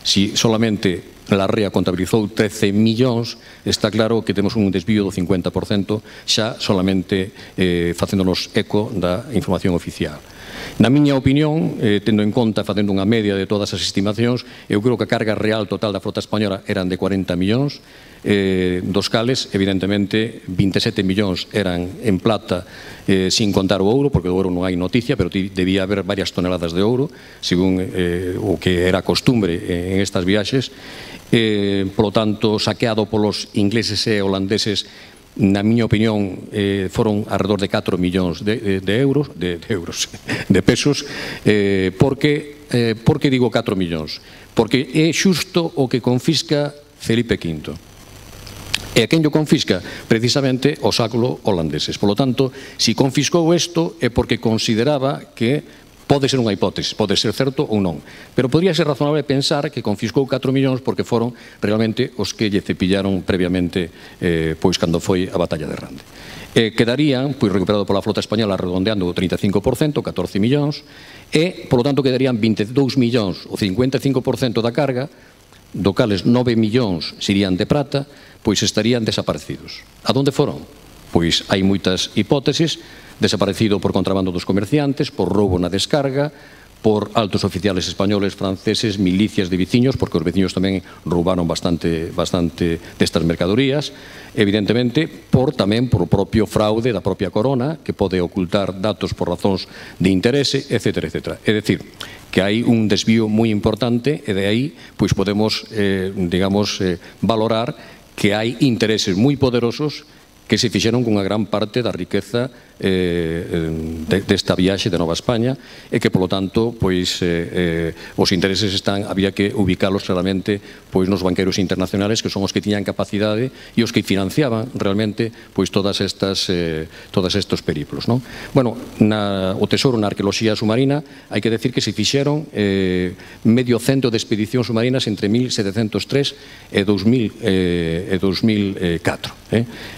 Si solamente la REA contabilizou trece millóns, está claro que temos un desvío do cincuenta por cento xa solamente facéndonos eco da información oficial. Na miña opinión, tendo en conta, facendo unha media de todas as estimacións, eu creo que a carga real total da frota española eran de cuarenta millóns, dos cales, evidentemente, veinte e sete millóns eran en plata, sin contar o ouro, porque do ouro non hai noticia, pero debía haber varias toneladas de ouro, según o que era costumbre en estas viaxes. Polo tanto, saqueado polos ingleses e holandeses, na miña opinión, foron alrededor de catro millóns de euros, de euros, de pesos, porque, porque digo catro millóns? Porque é xusto o que confisca Felipe quinto. E a quen yo confisca? Precisamente o século holandeses. Por lo tanto, si confiscou isto é porque consideraba que pode ser unha hipótese, pode ser certo ou non. Pero podría ser razonable pensar que confiscou catro millóns porque foron realmente os que lle cepillaron previamente pois cando foi a batalla de Rande. Quedarían, pois recuperado pola flota española redondeando o trinta e cinco por cento, catorce millóns, e, polo tanto, quedarían vinte e dous millóns, o cincuenta e cinco por cento da carga, do cales nove millóns serían de prata, pois estarían desaparecidos. A donde foron? Pois hai moitas hipóteses: desaparecido por contrabando dos comerciantes, por roubo na descarga, por altos oficiales españoles, franceses, milicias de veciños, porque os veciños tamén roubaron bastante bastante destas mercadorías, evidentemente por tamén por o propio fraude da propia corona, que pode ocultar datos por razóns de interese, etcétera, etcétera. É dicir, que hai un desvío moi importante e de aí pois podemos, digamos, valorar que hai intereses moi poderosos que se fixeron cunha gran parte da riqueza desta viaxe de Nova España e que, polo tanto, os intereses están, había que ubicalos claramente nos banqueros internacionales, que son os que tiñan capacidade e os que financiaban realmente todas estas todos estes periplos. Bueno, o Tesoro na arqueoloxía submarina hai que decir que se fixeron medio cento de expedicións submarinas entre mil setecentos tres e dous mil catro.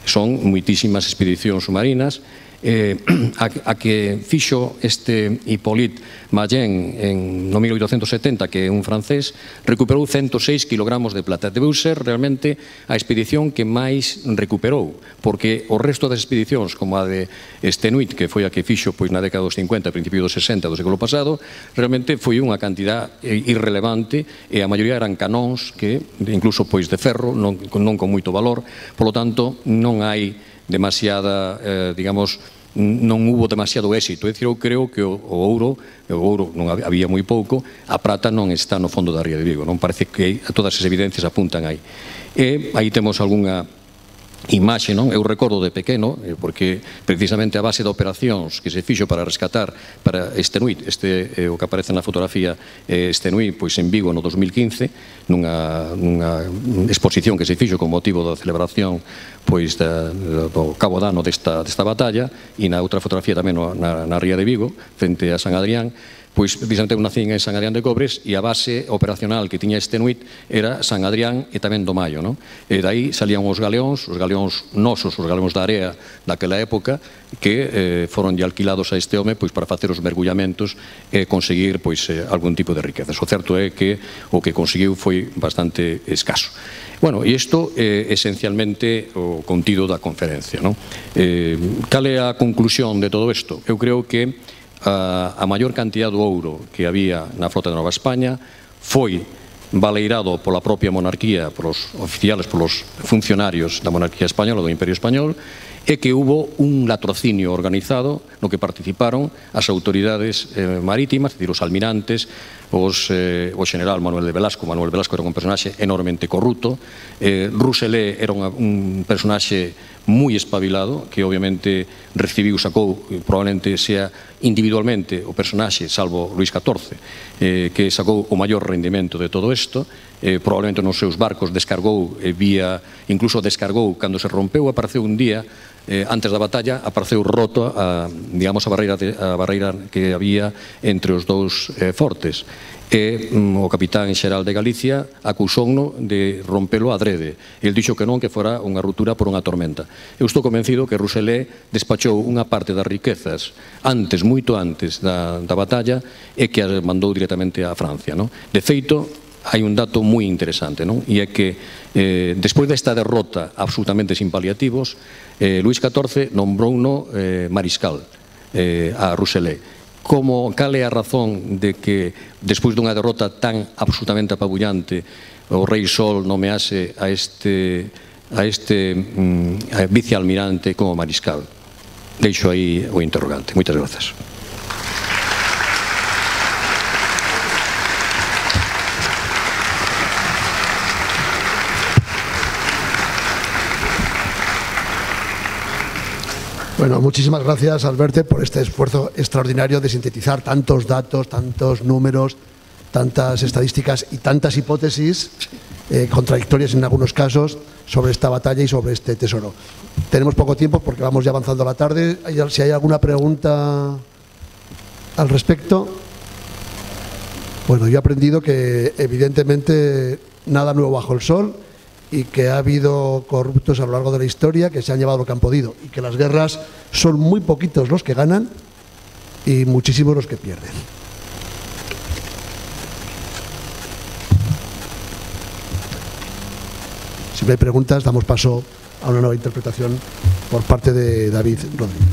Son moitísimas expedicións submarinas. A que fixo este Hippolyte Mayen no mil oitocentos setenta, que é un francés, recuperou ciento seis kilogramos de plata. Debeu ser realmente a expedición que máis recuperou, porque o resto das expedicións, como a de Stenuit, que foi a que fixo na década dos cincuenta, principio dos sesenta do século pasado, realmente foi unha cantidad irrelevante e a maioría eran canóns que, incluso pois de ferro, non con moito valor. Por lo tanto, non hai demasiada, digamos, non hubo demasiado éxito. É dicir, eu creo que o ouro, o ouro non había moi pouco, a prata non está no fondo da ría de Vigo, non parece que todas as evidencias apuntan aí. E aí temos algunha imaxe, non? Eu recordo de pequeno, porque precisamente a base de operacións que se fixo para rescatar para Stenuit, este o que aparece na fotografía Stenuit, pois en Vigo no dos mil quince, nunha exposición que se fixo con motivo da celebración pois do cabo dano desta batalla, e na outra fotografía tamén na ría de Vigo, frente a San Adrián, pois precisamente eu nacín en San Adrián de Cobres e a base operacional que tiña Stenuit era San Adrián e tamén do Maio, non? E dai salían os galeóns, os galeóns nosos, os galeóns da area daquela época, que foron alquilados a este home pois para facer os mergullamentos e conseguir pois algún tipo de riqueza. O certo é que o que conseguiu foi bastante escaso. Bueno, e isto é esencialmente o contido da conferencia, non? Cal é a conclusión de todo isto? Eu creo que a maior cantidad do ouro que había na flota de Nova España foi baleirado pola propia monarquía, polos oficiales, polos funcionarios da monarquía española, do Imperio Español, e que hubo un latrocinio organizado no que participaron as autoridades marítimas, es dicir, os almirantes, o general Manuel de Velasco. Manuel Velasco era un personaxe enormemente corrupto, Rousselet era un personaxe moi espabilado, que obviamente recibiu, sacou, probablemente sea individualmente o personaxe, salvo Luís catorce, eh, que sacou o maior rendimento de todo isto, eh, probablemente nos seus barcos descargou, eh, vía, incluso descargou cando se rompeu, apareceu un día, eh, antes da batalla, apareceu roto a, digamos, a barreira, de, a barreira que había entre os dous eh, fortes. E mm, o capitán xeral de Galicia acusouno de rompelo adrede. El dixo que non, que fora unha ruptura por unha tormenta. Eu estou convencido que Rousselet despachou unha parte das riquezas antes, moito antes da, da batalla, e que as mandou directamente a Francia, non? De feito, hai un dato moi interesante, non? E é que eh, despois desta derrota absolutamente sin paliativos, eh, Luís catorce nombrouno eh, mariscal eh, a Rousselet. Como, cal é a razón de que despois dunha derrota tan absolutamente apabullante o rei Sol nomease a este, a este mm, a vicealmirante como mariscal? Deixo aí o interrogante. Moitas grazas. Bueno, muchísimas gracias, Alberto, por este esfuerzo extraordinario de sintetizar tantos datos, tantos números, tantas estadísticas y tantas hipótesis eh, contradictorias en algunos casos sobre esta batalla y sobre este tesoro. Tenemos poco tiempo porque vamos ya avanzando a la tarde. Si hay alguna pregunta al respecto. Bueno, yo he aprendido que evidentemente nada nuevo bajo el sol, y que ha habido corruptos a lo largo de la historia que se han llevado lo que han podido, y que las guerras son muy poquitos los que ganan y muchísimos los que pierden. Si no hay preguntas, damos paso a una nueva interpretación por parte de David Rodríguez.